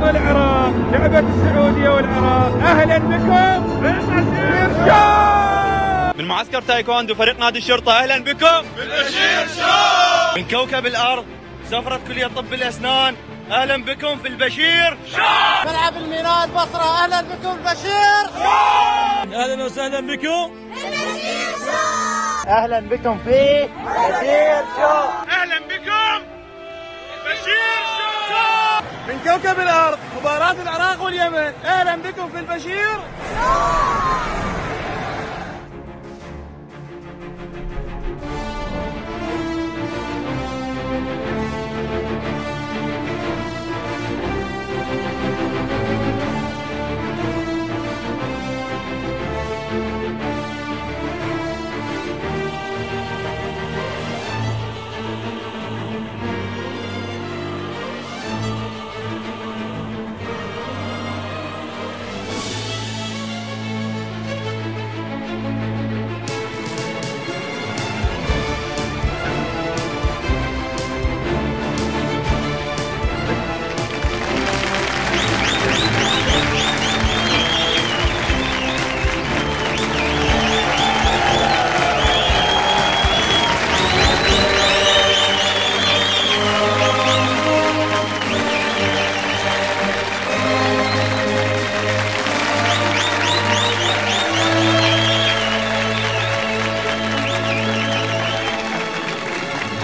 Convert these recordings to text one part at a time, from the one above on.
والعراق، لعبة السعودية والعراق، أهلا بكم بالبشير شو. من معسكر تايكوندو فريق نادي الشرطة، أهلا بكم بالبشير شو. من كوكب الأرض سفرة كلية طب الأسنان، أهلا بكم في البشير شو. ملعب الميناء البصرة، أهلا بكم البشير شو. أهلا وسهلا بكم البشير شو. أهلا بكم في البشير شو. أهلا بكم البشير شو. من كوكب الأرض مباراة العراق واليمن، أهلا بكم في البشير شو.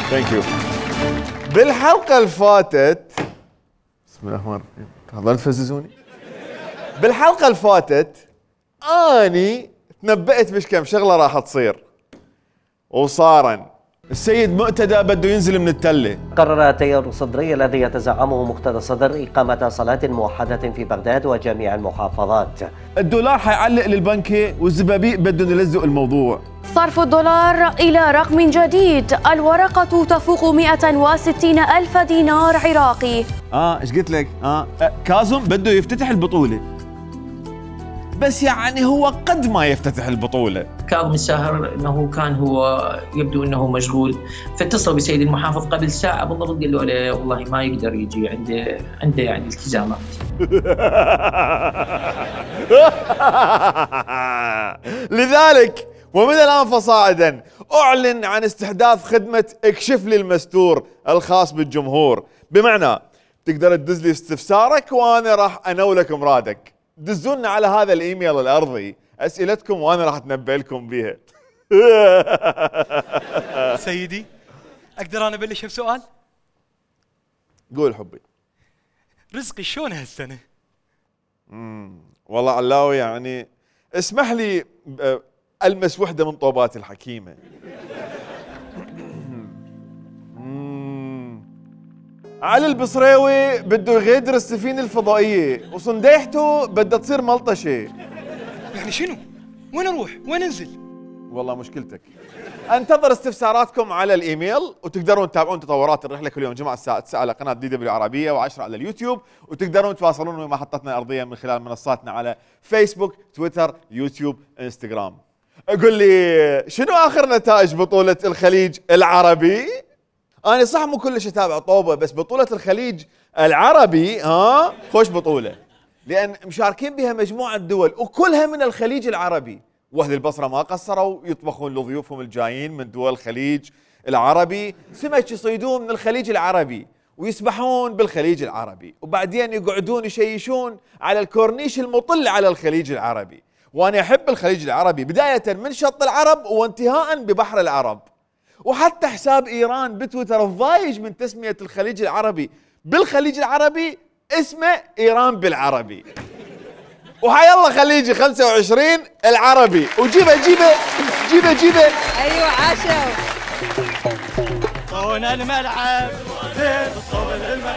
ثانك يو. بالحلقة اللي فاتت بسم الله الرحمن الرحيم، تفضلوا تفززوني. بالحلقة اللي فاتت اني تنبأت بش كم شغلة راح تصير وصارن. السيد مقتدى بده ينزل من التلة. قرر التيار الصدري الذي يتزعمه مقتدى الصدر إقامة صلاة موحدة في بغداد وجميع المحافظات. الدولار حيعلق للبنكة والزبابيق بدهم يلزقوا الموضوع. صرف الدولار إلى رقم جديد، الورقة تفوق 160 ألف دينار عراقي. ايش قلت لك؟ كاظم بده يفتتح البطولة، بس يعني هو قد ما يفتتح البطولة. كاظم الساهر انه كان هو يبدو انه مشغول، فاتصل بسيد المحافظ قبل ساعة بالضبط قال له والله ما يقدر يجي، عنده يعني التزامات. لذلك ومن الآن فصاعدا أعلن عن استحداث خدمة اكشف لي المستور الخاص بالجمهور، بمعنى تقدر تدز لي استفسارك وأنا راح أنولك مرادك. دزونا على هذا الإيميل الأرضي أسئلتكم وأنا راح أتنبأ لكم بها. سيدي أقدر أنا أبلش بسؤال؟ قول حبي. رزقي شلون هالسنة؟ والله علاوي يعني اسمح لي ألمس وحدة من طوبات الحكيمة. علي البصريوي بده يغادر السفينة الفضائية وصنديحته بدها تصير ملطشة. يعني شنو؟ وين أروح؟ وين أنزل؟ والله مشكلتك. انتظر استفساراتكم على الإيميل، وتقدرون تتابعون تطورات الرحلة كل يوم جمعة الساعة 9 على قناة DW عربية و10 على اليوتيوب، وتقدرون تواصلون مع محطتنا الأرضية من خلال منصاتنا على فيسبوك، تويتر، يوتيوب، انستغرام. قل لي شنو آخر نتائج بطولة الخليج العربي؟ أنا صح مو كلش أتابع طوبة، بس بطولة الخليج العربي خوش بطولة، لأن مشاركين بها مجموعة دول وكلها من الخليج العربي. واهل البصرة ما قصروا يطبخون لضيوفهم الجايين من دول الخليج العربي سمك يصيدون من الخليج العربي ويسبحون بالخليج العربي، وبعدين يقعدون يشيشون على الكورنيش المطل على الخليج العربي. وأنا أحب الخليج العربي بداية من شط العرب وانتهاء ببحر العرب، وحتى حساب إيران بتويتر ضايج من تسمية الخليج العربي بالخليج العربي اسمه إيران بالعربي. وحي الله خليجي 25 العربي، وجيبه جيبه جيبه جيبه. ايوه عاشوا. هنا الملعب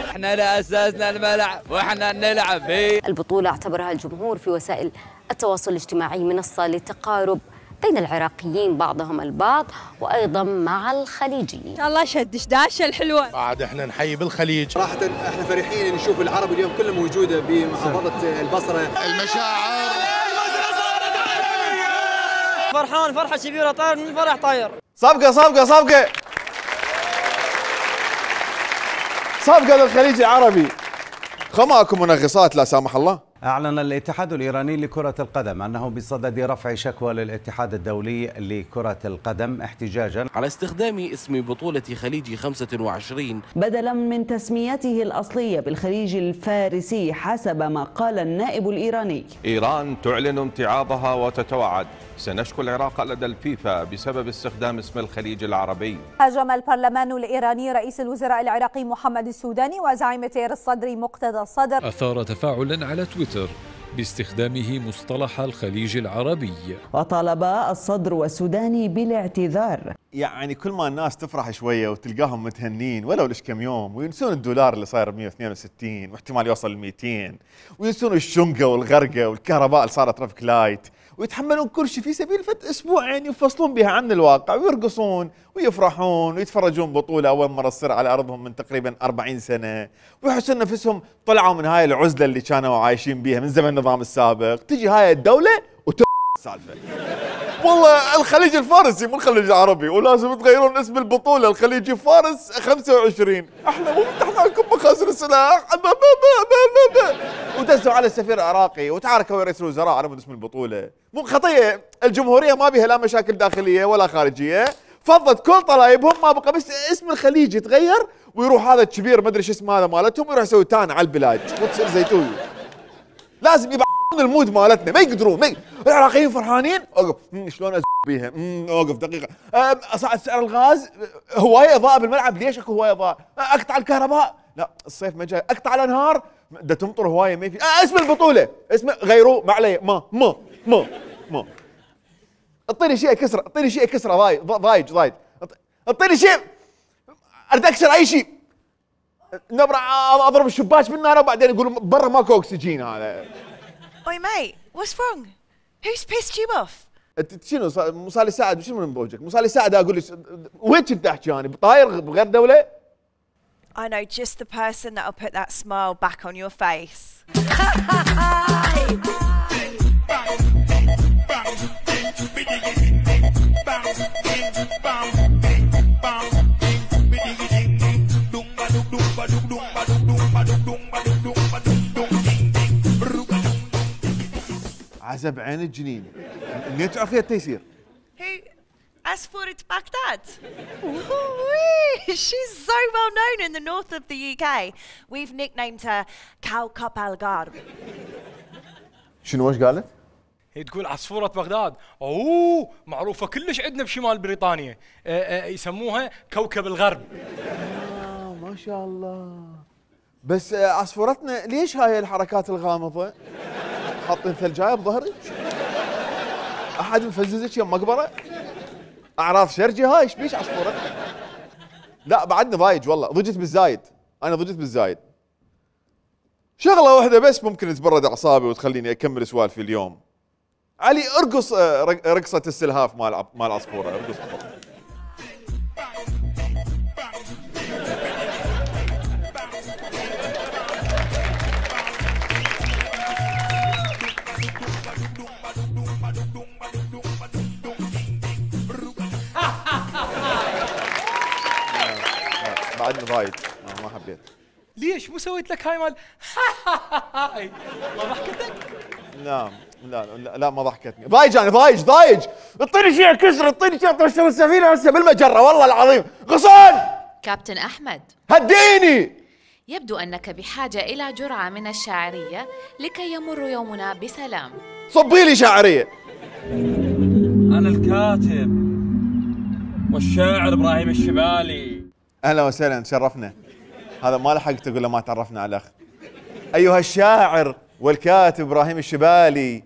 احنا لا اساسنا الملعب واحنا نلعب فيه. البطولة اعتبرها الجمهور في وسائل التواصل الاجتماعي منصة للتقارب بين العراقيين بعضهم البعض وأيضا مع الخليجيين. ان شاء الله شدش داشة الحلوة. بعد احنا نحيي بالخليج. صراحة احنا فرحين نشوف العرب اليوم كلها موجودة بمحافظة البصرة. المشاعر فرحان فرحة كبيرة، طاير من فرح طاير. صفقة صفقة صفقة صفقة للخليج العربي. ماكو منغصات لا سامح الله. أعلن الاتحاد الإيراني لكرة القدم أنه بصدد رفع شكوى للاتحاد الدولي لكرة القدم احتجاجا على استخدام اسم بطولة خليج 25 بدلا من تسميته الأصلية بالخليج الفارسي حسب ما قال النائب الإيراني. إيران تعلن امتعاضها وتتوعد سنشكو العراق لدى الفيفا بسبب استخدام اسم الخليج العربي. هاجم البرلمان الإيراني رئيس الوزراء العراقي محمد السوداني وزعيم تيار الصدر مقتدى الصدر. أثار تفاعلا على تويتر باستخدامه مصطلح الخليج العربي، وطالب الصدر والسوداني بالاعتذار. يعني كل ما الناس تفرح شويه وتلقاهم متهنين ولو ليش كم يوم، وينسون الدولار اللي صاير 162 واحتمال يوصل ل 200، وينسون الشنقه والغرقه والكهرباء اللي صارت ترافيك لايت، ويتحملون كل شيء في سبيل اسبوعين يفصلون بها عن الواقع ويرقصون ويفرحون ويتفرجون بطوله اول مره تصير على ارضهم من تقريبا 40 سنه، ويحسون نفسهم طلعوا من هاي العزله اللي كانوا عايشين بيها من زمن النظام السابق. تجي هاي الدوله السالفه والله الخليج الفارسي مو الخليج العربي، ولازم تغيرون اسم البطوله الخليج فارس 25. احنا مو فتحنا لكم مخازن السلاح ودزوا على السفير العراقي وتعاركوا رئيس الوزراء على اسم البطوله. مو خطيه الجمهوريه ما بيها لا مشاكل داخليه ولا خارجيه، فضت كل طلايبهم ما بقى بس اسم الخليج يتغير ويروح هذا الكبير ما ادري شو اسمه هذا مالتهم ويروح يسوي تان على البلاد وتصير زيتوي. لازم يبقى المود مالتنا ما يقدرون العراقيين فرحانين اوقف شلون بيها اوقف دقيقه اصعد سعر الغاز، هوايه اضاءه بالملعب ليش اكو هوايه اضاءه؟ اقطع الكهرباء لا الصيف ما جاي، اقطع الانهار ده تمطر هوايه ما في اسم البطوله اسمه غيروه ما عليه ما اعطيني شيء كسره، اعطيني شيء كسره ضايج اعطيني شيء اريد اكسر اي شيء نبرع اضرب الشباك بالنار وبعدين يقولوا برا ماكو اكسجين. هذا Oi mate, what's wrong? Who's pissed you off? شنو مصالي سعد شنو من بوجهك؟ مصالي سعد اقول لك وين كنت تحكي طاير بغير دوله؟ I know just the person that'll put that smile back on your face. عزب عين الجنين منين تعرفيها التيسير؟ Who? Asforit Baghdad. She's so well known in the north of the UK. We've nicknamed her Kawkab Al-Gharb. شنو وش قالت؟ هي تقول عصفورة بغداد. اوه معروفة كلش عندنا بشمال بريطانيا، يسموها كوكب الغرب. ما شاء الله. بس عصفورتنا ليش هاي الحركات الغامضة؟ حاطين ثلجايه بظهرك؟ احد مفززك يم مقبره؟ اعراض شرجه هاي ايش بيش عصفورتنا؟ لا بعدني ضايج والله ضجت بالزايد، انا ضجت بالزايد. شغله واحده بس ممكن تبرد اعصابي وتخليني اكمل سوالفي اليوم. علي ارقص رقصه السلهاف مال عصفوره ارقص. بعدني ضايج ما حبيت. ليش مو سويت لك هاي مال هاي ما ضحكتك؟ لا ما ضحكتني. ضايج انا ضايج اعطيني شيء كسر، اعطيني شيء طشر السفينه هسه بالمجره والله العظيم. غصان كابتن أحمد هديني. يبدو أنك بحاجة إلى جرعة من الشاعرية لكي يمر يومنا بسلام. صبي لي شاعرية. أنا الكاتب والشاعر إبراهيم الشبالي. أهلا وسهلا تشرفنا. هذا ما لحقت أقول له ما تعرفنا على الأخ. أيها الشاعر والكاتب إبراهيم الشبالي،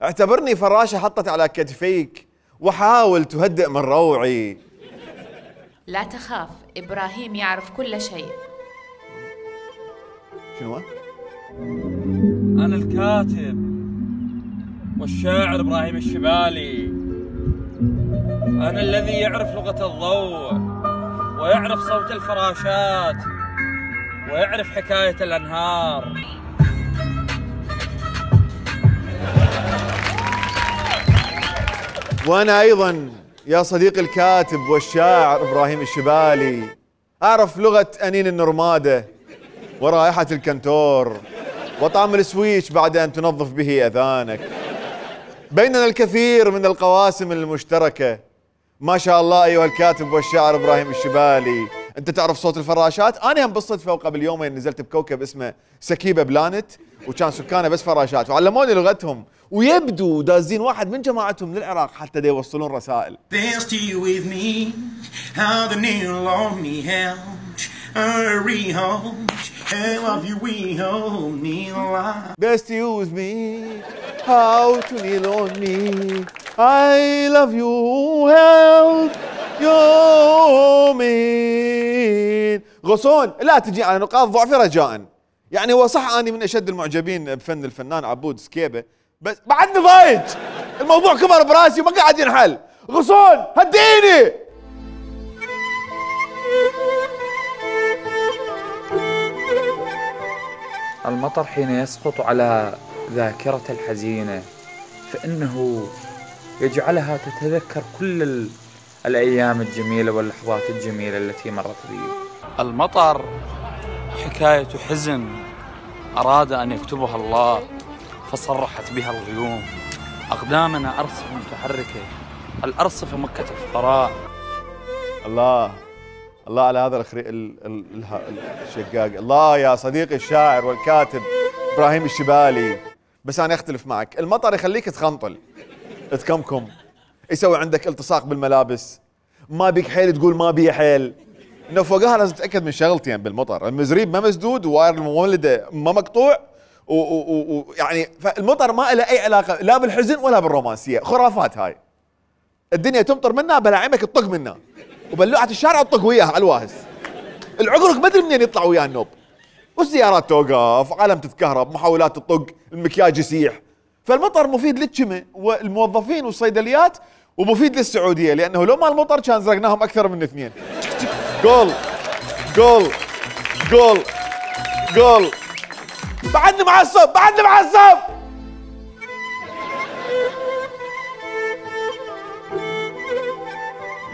اعتبرني فراشة حطت على كتفيك وحاول تهدئ من روعي. لا تخاف، إبراهيم يعرف كل شيء. شنو؟ أنا الكاتب والشاعر إبراهيم الشبالي، أنا الذي يعرف لغة الضوء ويعرف صوت الفراشات ويعرف حكاية الأنهار. وأنا أيضا يا صديقي الكاتب والشاعر إبراهيم الشبالي أعرف لغة أنين النرمادة ورائحة الكنتور وطعم السويتش بعد أن تنظف به أذانك. بيننا الكثير من القواسم المشتركة. ما شاء الله أيها الكاتب والشاعر إبراهيم الشبالي. أنت تعرف صوت الفراشات؟ أنا هم بالصدفة وقبل يومين نزلت بكوكب اسمه سكيبة بلانت، وكان سكانه بس فراشات، وعلموني لغتهم، ويبدو دازين واحد من جماعتهم للعراق حتى دا يوصلون رسائل. Best you with me, how to kneel on me, I love you, help you mean. غصون لا تجي على نقاط ضعفي رجاء. يعني هو صح اني من اشد المعجبين بفن الفنان عبود سكيبة، بس بعدني ضايج، الموضوع كبر براسي وما قاعد ينحل. غصون هديني. المطر حين يسقط على ذاكرة الحزينة فإنه يجعلها تتذكر كل الأيام الجميلة واللحظات الجميلة التي مرت بي. المطر حكاية حزن أراد أن يكتبها الله فصرحت بها الغيوم. أقدامنا أرصفة متحركة، الأرصفة مكة الفقراء. الله الله على هذا الشقاق. الله يا صديقي الشاعر والكاتب إبراهيم الشبالي. بس أنا أختلف معك، المطر يخليك تخنطل، تكمكم، يسوي عندك التصاق بالملابس، ما بيك حيل تقول ما بي حيل. انه فوقها لازم تتاكد من شغلتين بالمطر، المزريب ما مسدود وواير المولده ما مقطوع، ويعني فالمطر ما له اي علاقه لا بالحزن ولا بالرومانسيه، خرافات هاي. الدنيا تمطر منها بلاعمك تطق منها، وبلوعه الشارع تطق وياها على الواهس. العقرق ما ادري منين يطلع وياها النوب. والسيارات توقف، عالم تتكهرب، محاولات تطق، المكياج يسيح. فالمطر مفيد للجمع والموظفين والصيدليات، ومفيد للسعوديه، لانه لو ما المطر كان زرقناهم اكثر من 2. جول جول جول جول. بعدني معصب بعدني معصب.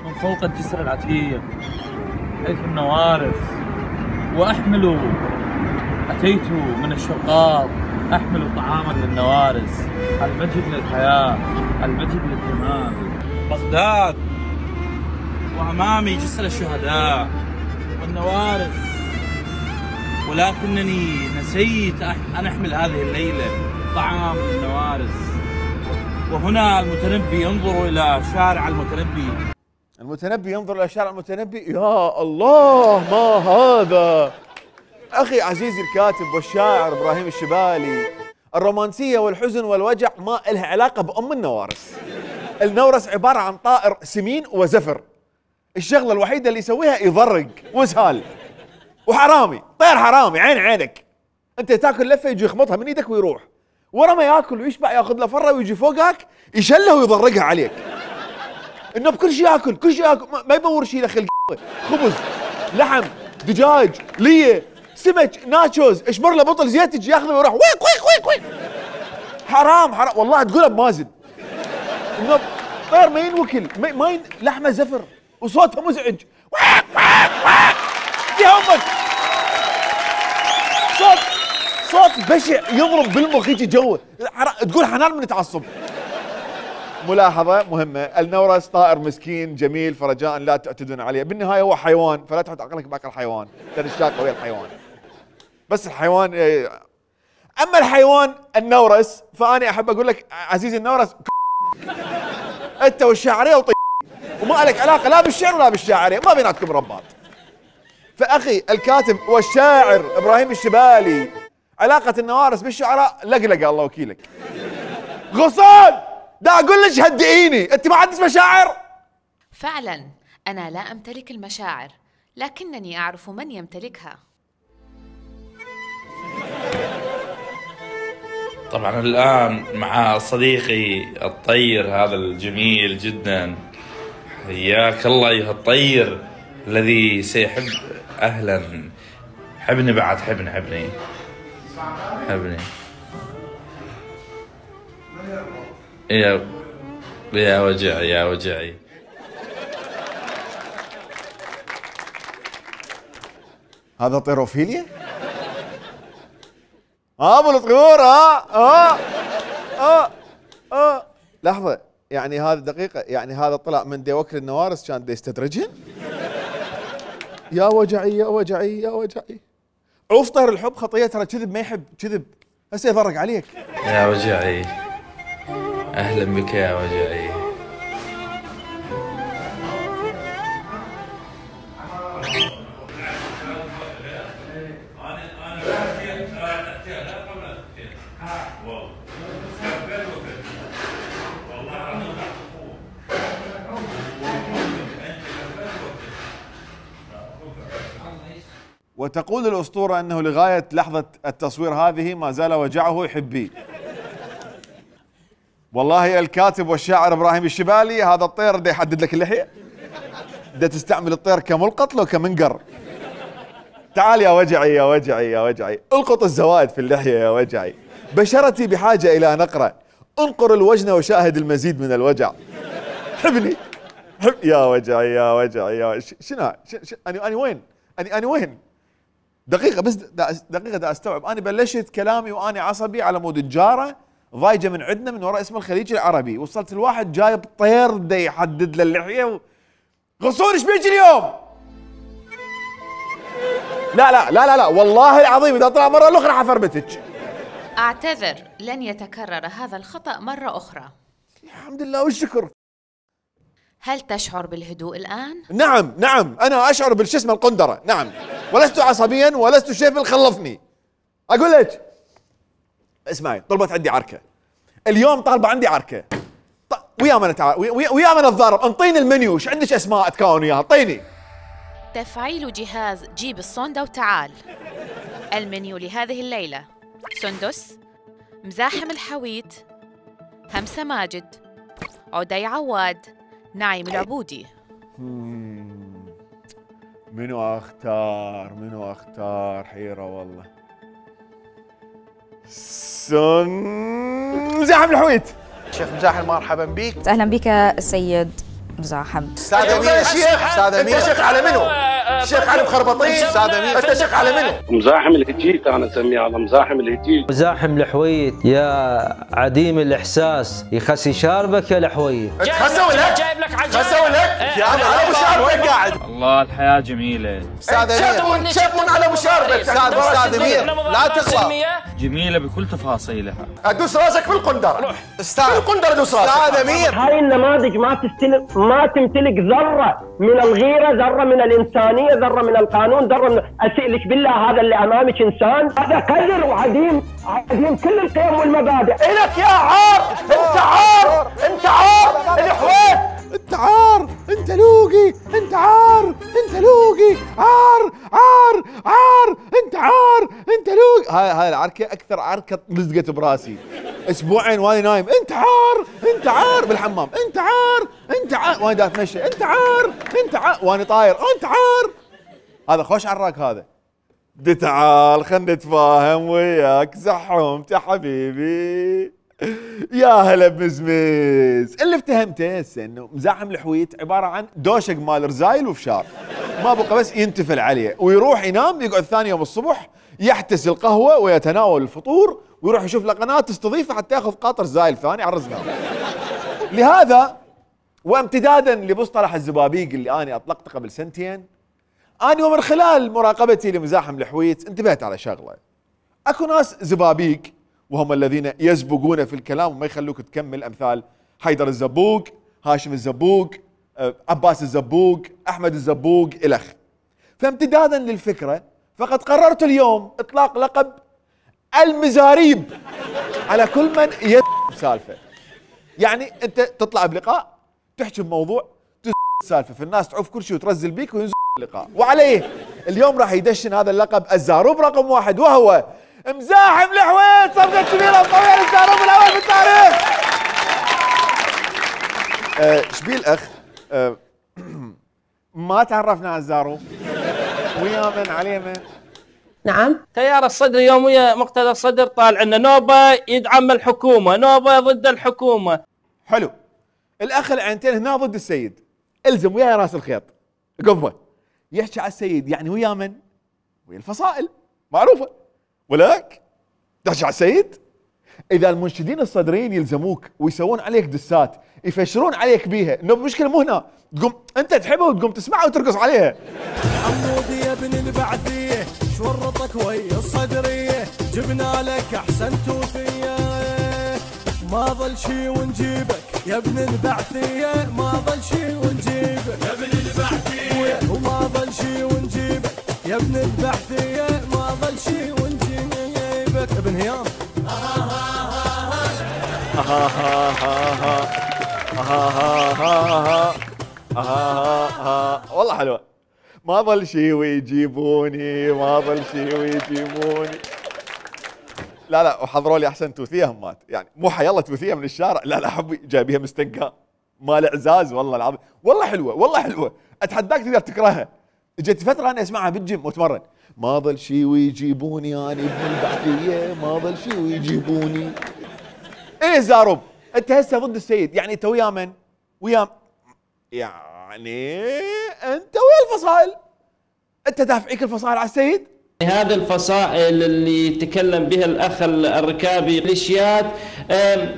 من فوق الجسر العتيق حيث النوارس وأحمل أتيت من الشقاق أحمل طعاما للنوارس. المجد للحياة، المجد للتمام. بغداد وأمامي جسر الشهداء والنوارس، ولكنني نسيت أن أحمل هذه الليلة طعام للنوارس. وهنا المتنبي ينظر إلى شارع المتنبي. المتنبي ينظر إلى شارع المتنبي. يا الله ما هذا. أخي عزيزي الكاتب والشاعر إبراهيم الشبالي، الرومانسية والحزن والوجع ما إلها علاقة بأم النوارس. النورس عبارة عن طائر سمين وزفر، الشغلة الوحيدة اللي يسويها يضرق وسهال وحرامي، طير حرامي عين عينك. انت تاكل لفة يجي يخمطها من ايدك ويروح، ورا ما ياكل ويشبع ياخذ له فرة ويجي فوقك يشلها ويضرقها عليك. انه بكل شيء ياكل، كل شيء ياكل، ما يبور شيء له خلق. خبز، لحم، دجاج، ليه، سمك، ناتشوز، اشبر له بطل زيت يجي ياخذه ويروح ويك ويك ويك ويك. حرام حرام والله تقولها بمازن. انه طير ما ينوكل، ما لحمه زفر وصوتها مزعج. ويك ويك ويك يهمك. صوت بشع يضرب بالمخ يجي جوه، تقول حنان من تعصب. ملاحظة مهمة، النورس طائر مسكين جميل، فرجاء لا تعتدون عليه، بالنهاية هو حيوان، فلا تحط عقلك باكل الحيوان، لأن الشاقة ويا الحيوان. بس الحيوان أما الحيوان النورس فأنا أحب أقول لك عزيزي النورس أنت والشاعرية وما لك علاقة لا بالشعر ولا بالشاعرية، ما بيناتكم رباط. فأخي الكاتب والشاعر إبراهيم الشبالي، علاقة النوارس بالشعراء لقلقة الله وكيلك. غصان دا أقول لك هدئيني، أنت ما عندك مشاعر؟ فعلا أنا لا أمتلك المشاعر، لكنني أعرف من يمتلكها. طبعا الآن مع صديقي الطير هذا الجميل جدا. حياك الله أيها الطير الذي سيحب. أهلا. حبني بعد، حبني حبني حبني. يا وجعي يا وجعي. هذا طيروفيليا؟ ابو الطيور. لحظه، يعني هذه دقيقه، يعني هذا طلع من دي وكل النوارس كان دي يستدرجهن. يا وجعي يا وجعي يا وجعي. عوف طير الحب خطيه، ترى كذب ما يحب كذب، هسه يفرق عليك. يا وجعي اهلا بك يا وجعي. وتقول الأسطورة أنه لغاية لحظة التصوير هذه ما زال وجعه يحبيه. والله الكاتب والشاعر إبراهيم الشبالي، هذا الطير ده يحدد لك اللحية، ده تستعمل الطير كملقط لو كمنقر. تعال يا وجعي يا وجعي يا وجعي، القط الزوائد في اللحية يا وجعي. بشرتي بحاجة إلى نقرة، انقر الوجن وشاهد المزيد من الوجع. حبني حب يا وجعي يا وجعي يا وجعي. شنو أنا وين؟ أنا وين؟ دقيقة بس، دقيقة دا استوعب. أنا بلشت كلامي وأنا عصبي على مود الجارة ضايجة من عندنا من وراء اسم الخليج العربي، وصلت الواحد جايب طير دا يحدد له اللحية غصون ايش بيجي اليوم؟ لا لا لا لا لا والله العظيم إذا طلع مرة الأخرى حفربتك. أعتذر، لن يتكرر هذا الخطأ مرة أخرى. الحمد لله والشكر. هل تشعر بالهدوء الآن؟ نعم نعم، أنا أشعر بالشسمة القندرة، نعم، ولست عصبيا ولست شيفل خلفني. أقول لك اسمعي، طلبت عندي عركة اليوم، طالبة عندي عركة ويا من نتضارب، انطيني المنيو، ايش عندك اسماء تكون وياها، اعطيني. تفعيل جهاز جيب الصندة وتعال. المنيو لهذه الليلة: سندس، مزاحم الحويت، همسة ماجد، عدي عواد، نعيم العبودي. منو اختار؟ منو اختار؟ حيرة والله. مزاحم الحويت. شيخ مزاحم مرحبا بك. اهلا بك السيد مزاحم. استاذ امير يا شيخ. استاذ امير. انت شيخ على منو؟ شيخ علي مخربطين. استاذ امير. انت شيخ على منو؟ مزاحم الهجيت انا اسميه، على مزاحم الهجيت. مزاحم الحويت يا عديم الاحساس، يخسي شاربك يا الحويت. خسوا لك. جايب لك عجائب. خسوا لك. يا انا ابو شاربك قاعد. الله الحياه جميله. استاذ امير. شبون على ابو شاربك. استاذ امير لا تغلط. جميله بكل تفاصيلها. ادوس راسك في القندره. استاذ القندره ادوس راسك. استاذ امير. هاي النماذج ما تمتلك ذره من الغيره، ذره من الانسانيه، ذره من القانون، ذره من اسالك بالله هذا اللي امامك انسان؟ هذا قذر وعديم كل القيم والمبادئ. الك يا عار. انت عار. انت عار الحويت. انت عار، انت لوقي، انت عار، انت لوقي، عار عار عار، انت عار، انت لوقي. هاي العركه اكثر عركه لزقت براسي اسبوعين وانا نايم. انت عار، انت عار بالحمام، انت عار، انت عار وانا دا اتمشى، انت عار، انت عار وانا طاير، انت عار. هذا خوش عراك هذا. دي تعال خلنا نتفاهم وياك زحومت يا حبيبي. يا هلا بمزمز. اللي افتهمته هسه انه مزاحم الحويت عباره عن دوشق مال رزايل وفشار، ما بقى بس ينتفل عليه ويروح ينام، يقعد ثاني يوم الصبح يحتس القهوه ويتناول الفطور ويروح يشوف له قناه تستضيفه حتى ياخذ قاطر زايل ثاني على الرزقه. لهذا وامتدادا لمصطلح الزبابيق اللي انا اطلقته قبل سنتين، انا ومن خلال مراقبتي لمزاحم الحويت انتبهت على شغله. اكو ناس زبابيق وهم الذين يزبقون في الكلام وما يخلوك تكمل، امثال حيدر الزبوق، هاشم الزبوق، عباس الزبوق، احمد الزبوق الخ. فامتدادا للفكره فقد قررت اليوم اطلاق لقب المزاريب على كل من سالفه. يعني انت تطلع بلقاء تحكي بموضوع سالفه، فالناس تعوف كل شيء وترزل بيك وينزل اللقاء. وعليه اليوم راح يدشن هذا اللقب الزاروب رقم 1 وهو مزاحم الحويت. صفقة كبيرة وقوية للزاروب الأول في التاريخ. شبيه الأخ؟ ما تعرفنا على الزاروب ويا من عليه من؟ نعم. تيار الصدر يوميا مقتدى الصدر طالع لنا نوبة يدعم الحكومة، نوبة ضد الحكومة. حلو. الأخ العينتين هنا ضد السيد، الزم وياه راس الخيط قبه يحكي على السيد، يعني ويا من؟ ويا الفصائل معروفة. ولك تحكي على السيد؟ اذا المنشدين الصدريين يلزموك ويسوون عليك دسات يفشرون عليك بيها، انه المشكله مو هنا، تقوم انت تحبها وتقوم تسمعها وترقص عليها. حمودي يا ابن البعثيه شورطك ويا الصدريه، جبنا لك احسن توفيه، ما ظل شي ونجيبك يا ابن البعثيه، ما ظل شي ونجيبك يا ابن البعثيه، وما ظل شي ونجيبك يا ابن البعثيه، ما ظل شي ونجيبك ابن هيام. والله حلوه. ما ظل شي ويجيبوني، ما ظل شي ويجيبوني. لا وحضروا لي احسن توثيه همات، يعني مو حيلا توثيه من الشارع، لا حبي جايبيها مستنقع مال اعزاز. والله العظيم والله حلوه، والله حلوه، اتحداك تقدر تكرهها. اجت فتره انا اسمعها بالجيم واتمرن. ما ظل شي ويجيبوني انا ابن البعثيه، ما ظل شي ويجيبوني. ايه زاروب انت هسه ضد السيد، يعني انت ويا من؟ ويا يعني انت ويا الفصائل، انت دافعيك الفصائل على السيد؟ هذه الفصائل اللي تكلم بها الأخ الركابي ميليشيات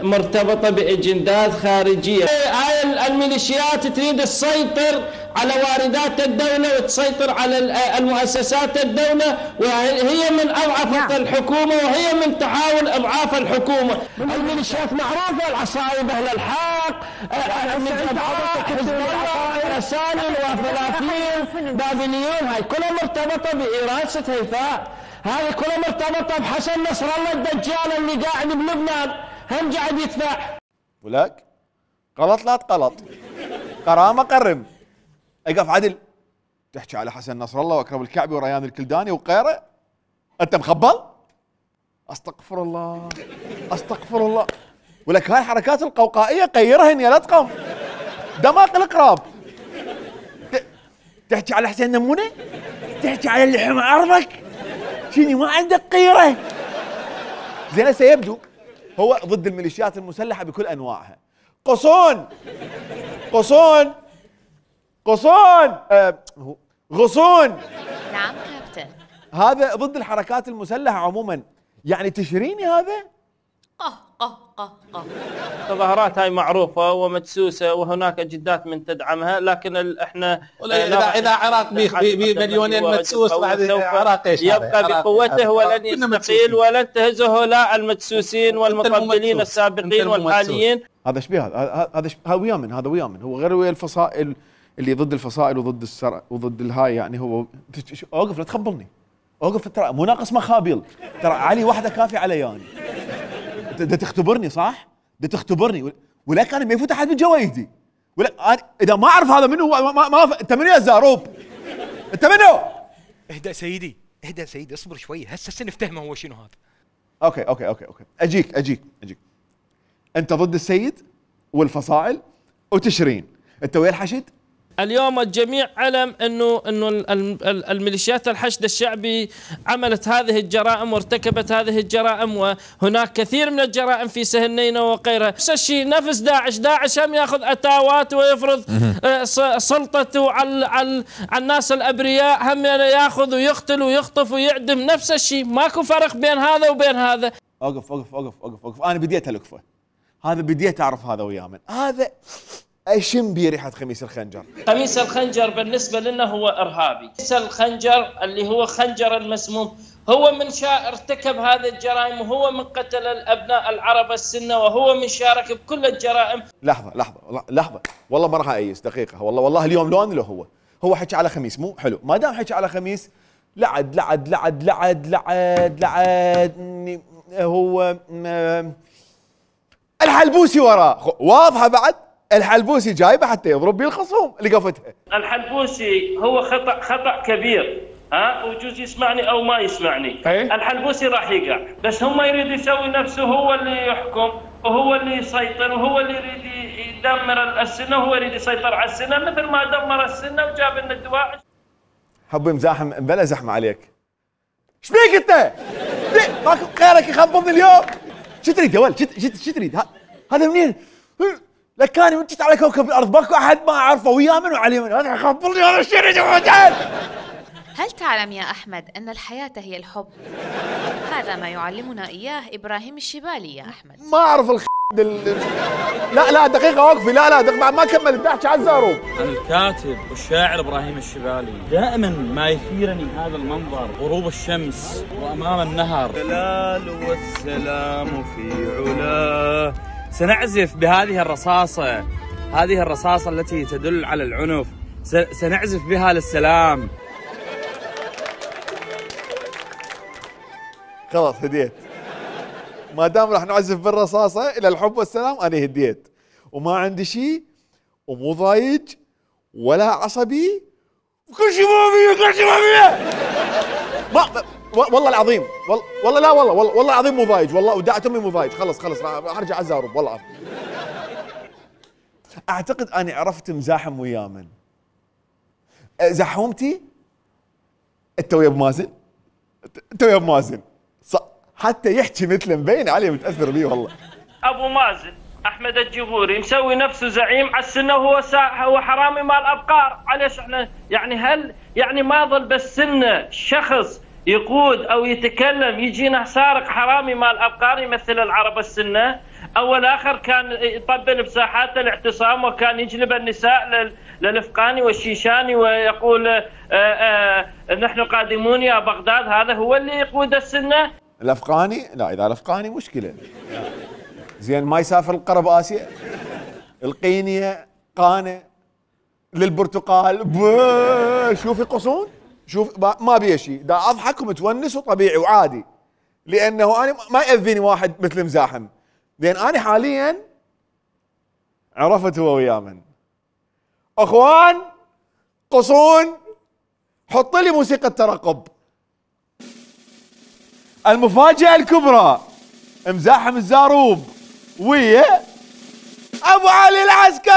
مرتبطة بأجندات خارجية. هاي الميليشيات تريد تسيطر على واردات الدولة وتسيطر على المؤسسات الدولة، وهي من أضعف الحكومة وهي من تحاول إضعاف الحكومة. الميليشيات معروفة، العصائب أهل الحق، حزب الله، رسائل وفلافين، بابليون، هاي كلها مرتبطة بإرادة هيفاء، هذه كلها مرتبطة بحسن نصر الله الدجال اللي قاعد بلبنان، هم قاعد يدفع. ولك غلط لا تقلط، قرامة قرم. اقف عدل تحكي على حسن نصر الله واكرم الكعبي وريان الكلداني وغيره، انت مخبل؟ استغفر الله استغفر الله. ولك هاي الحركات القوقائيه قيرهن يا لطقم، دماغ القراب. تحكي على حسين نمونه؟ تحكي على اللي حمى ارضك؟ شني ما عندك قيره؟ زين سيبدو هو ضد الميليشيات المسلحه بكل انواعها. قصون قصون قصون غصون. نعم كابتن. هذا ضد الحركات المسلحة عموما، يعني تشريني هذا؟ التظاهرات هاي معروفة ومدسوسة وهناك أجندات من تدعمها، لكن احنا إذا عراق بمليونين مدسوس بعد عراق ايش يبقى بقوته ولن يستقيل ولن تهزه لا المدسوسين والمقبلين السابقين والحاليين. هذا شبيه هذا ويا من؟ هذا ويا من؟ هو غير ويا الفصائل اللي ضد الفصائل وضد السرع وضد الهاي، يعني هو اوقف لا تخبرني، اوقف ترى مو ناقص مخابيل، ترى علي واحده كافي علي يعني. ده تختبرني صح؟ ده تختبرني، ولكن انا ما يفوت احد من جوايدي، ولا أنا اذا ما اعرف هذا منه ما انت منو يا زاروب؟ انت منو؟ اهدأ سيدي، اهدأ سيدي، اصبر شوي، هسه نفتهمه هو شنو هذا. اوكي اجيك انت ضد السيد والفصائل وتشرين، انت ويا الحشد؟ اليوم الجميع علم انه الميليشيات الحشد الشعبي عملت هذه الجرائم وارتكبت هذه الجرائم، وهناك كثير من الجرائم في سهنينة وغيرها. نفس الشيء نفس داعش هم ياخذ اتاوات ويفرض سلطته على الناس الابرياء، هم ياخذ ويقتل ويخطف ويعدم. نفس الشيء، ماكو فرق بين هذا وبين هذا. اوقف انا بديت الكفه، هذا بديت اعرف هذا ويا من هذا. اشم بريحه خميس الخنجر. خميس الخنجر بالنسبه لنا هو ارهابي. خميس الخنجر اللي هو خنجر المسموم هو من ارتكب هذه الجرائم، وهو من قتل الابناء العرب السنه، وهو من شارك بكل الجرائم. لحظه والله ما راح ايس دقيقه، والله اليوم لون له هو حكى على خميس مو حلو، ما دام حكى على خميس لعد هو الحلبوسي وراه واضحه بعد. الحلبوسي جايبه حتى يضرب بيه الخصوم اللي قفتها. الحلبوسي هو خطأ كبير، وجوز يسمعني او ما يسمعني. الحلبوسي راح يقع، بس هم يريد يسوي نفسه هو اللي يحكم وهو اللي يسيطر وهو اللي يريد يدمر السنه، وهو يريد يسيطر على السنه مثل ما دمر السنه وجاب لنا الدواعش. حبي مزاحم بلا زحمه عليك. ايش بيك انت؟ ماكو غيرك يخبطني اليوم. شو تريد يا ولد؟ شو تريد؟ هذا منين؟ لكاني من جيت على كوكب الارض ماكو احد ما اعرفه، ويا من وعلي من، هذا خبرني انا شنو جوعان. هل تعلم يا أحمد أن الحياة هي الحب؟ هذا ما يعلمنا إياه إبراهيم الشبالي يا أحمد. ما أعرف لا دقيقة وقفي، لا دقيقة ما كملت تحكي على الزاروب. الكاتب والشاعر إبراهيم الشبالي دائما ما يثيرني هذا المنظر، غروب الشمس وأمام النهر. الجلال والسلام في علاه. سنعزف بهذه الرصاصة، هذه الرصاصة التي تدل على العنف، سنعزف بها للسلام. خلاص هديت، ما دام راح نعزف بالرصاصة إلى الحب والسلام أنا هديت، وما عندي شيء ومو ضايج ولا عصبي وكل شيء ما والله العظيم والله لا والله العظيم مو ضايج، والله ودعت أمي مو ضايج. خلص راح أرجع على الزاروب والله العظيم. أعتقد أني عرفت مزاحم وياه من زحومتي أنت ويا بمازن، أنت ويا بمازن حتى يحكي مثله مبين عليه متاثر بيه والله. ابو مازن احمد الجبوري مسوي نفسه زعيم على السنه وهو حرامي مال ابقار. معليش احنا يعني هل يعني ما ظل بس سنه شخص يقود او يتكلم يجينا سارق حرامي مال ابقار يمثل العرب السنه؟ اول اخر كان يطبل بساحات الاعتصام وكان يجلب النساء للافقاني والشيشاني ويقول نحن قادمون يا بغداد. هذا هو اللي يقود السنه؟ الافغاني؟ لا اذا الافغاني مشكله. زين ما يسافر القرب اسيا، القينيه، قانه، للبرتقال، شوفي قصون، شوف ما بيه شيء، دا اضحك ومتونس وطبيعي وعادي، لانه انا ما ياذيني واحد مثل مزاحم. لان انا حاليا عرفت هو وياه من اخوان قصون. حط لي موسيقى ترقب. المفاجأة الكبرى مزاحم الزاروب ويا ابو علي العسكري.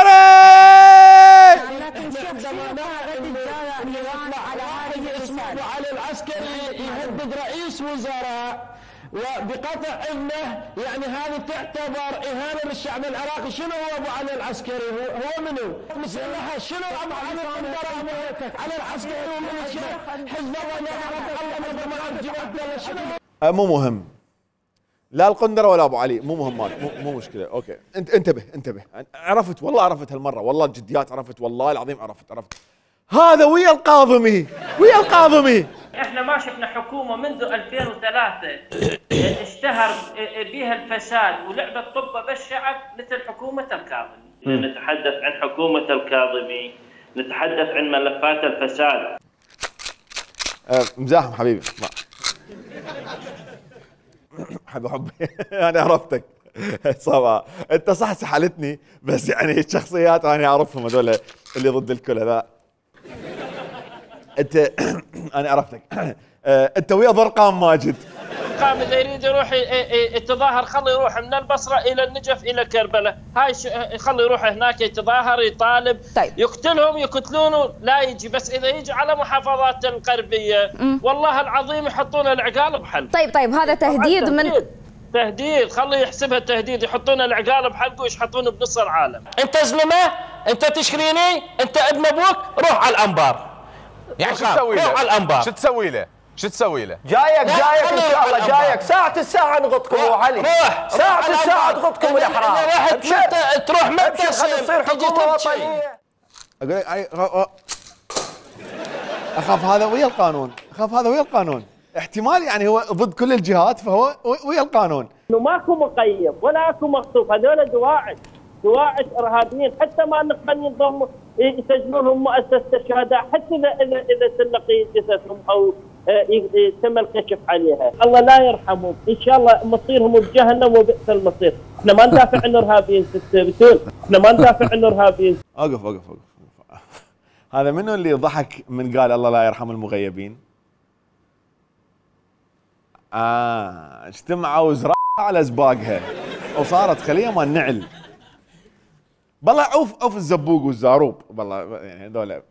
ابو علي العسكري يهدد رئيس وزراء وبقطع اذنه، يعني هذه تعتبر اهانه للشعب العراقي. شنو هو ابو علي العسكري؟ هو منو؟ مسلحه. شنو ابو علي على العسكري ومن حزب الله مو مهم، لا القندره ولا ابو علي، مو مهم، مو مشكله. اوكي انتبه عرفت والله، عرفت هالمره والله جديات، عرفت والله العظيم عرفت. هذا ويا القاضمي. احنا ما شفنا حكومه منذ 2003 اشتهر بها الفساد ولعبه طبه بالشعب مثل حكومه الكاظمي. نتحدث عن حكومه الكاظمي، نتحدث عن ملفات الفساد. مزاحم حبيبي حبي انا عرفتك صراحه، انت صح سحلتني، بس يعني الشخصيات انا اعرفهم هذول اللي ضد الكل هذا. انت انا عرفتك. انت ويا ضرقام ماجد. ضرقام اذا يريد يروح يتظاهر خليه يروح من البصره الى النجف الى كربلاء، هاي خليه يروح هناك يتظاهر يطالب. طيب. يقتلهم يقتلونه لا يجي، بس اذا يجي على محافظات الغربيه والله العظيم يحطون العقال بحلق. طيب هذا تهديد من تهديد، خليه يحسبها تهديد، يحطون العقال بحلقه ويشحطونه بنص العالم. انت زلمه، انت تشكريني، انت ابن ابوك، روح على الانبار. يعني شو تسوي له؟ روح على الانبار. شو تسوي له؟ جايك ان شاء الله، جايك ساعة الساعة نغطكم ابو علي. ساعة الساعة تغطكم الاحرار. تروح مبتسم تصير حكومة وطنية. اقول اخاف هذا ويا القانون، احتمال يعني هو ضد كل الجهات فهو ويا القانون. انه ماكو مقيم ولا اكو مخطوف، هذول دواعش ارهابيين، حتى ما نقبل ينضموا يسجلون لهم مؤسسه الشهداء، حتى اذا تلقي جثثهم او تم الكشف عليها. الله لا يرحمهم، ان شاء الله مصيرهم بجهنم وبئس المصير. احنا ما ندافع عن الارهابيين بتول، احنا ما ندافع عن الارهابيين. اوقف هذا منو اللي ضحك من قال الله لا يرحم المغيبين؟ اجتمعوا وزراء على زباقها وصارت خليه مال نعل. بالله عوف الزبوق والزاروب، بالله يعني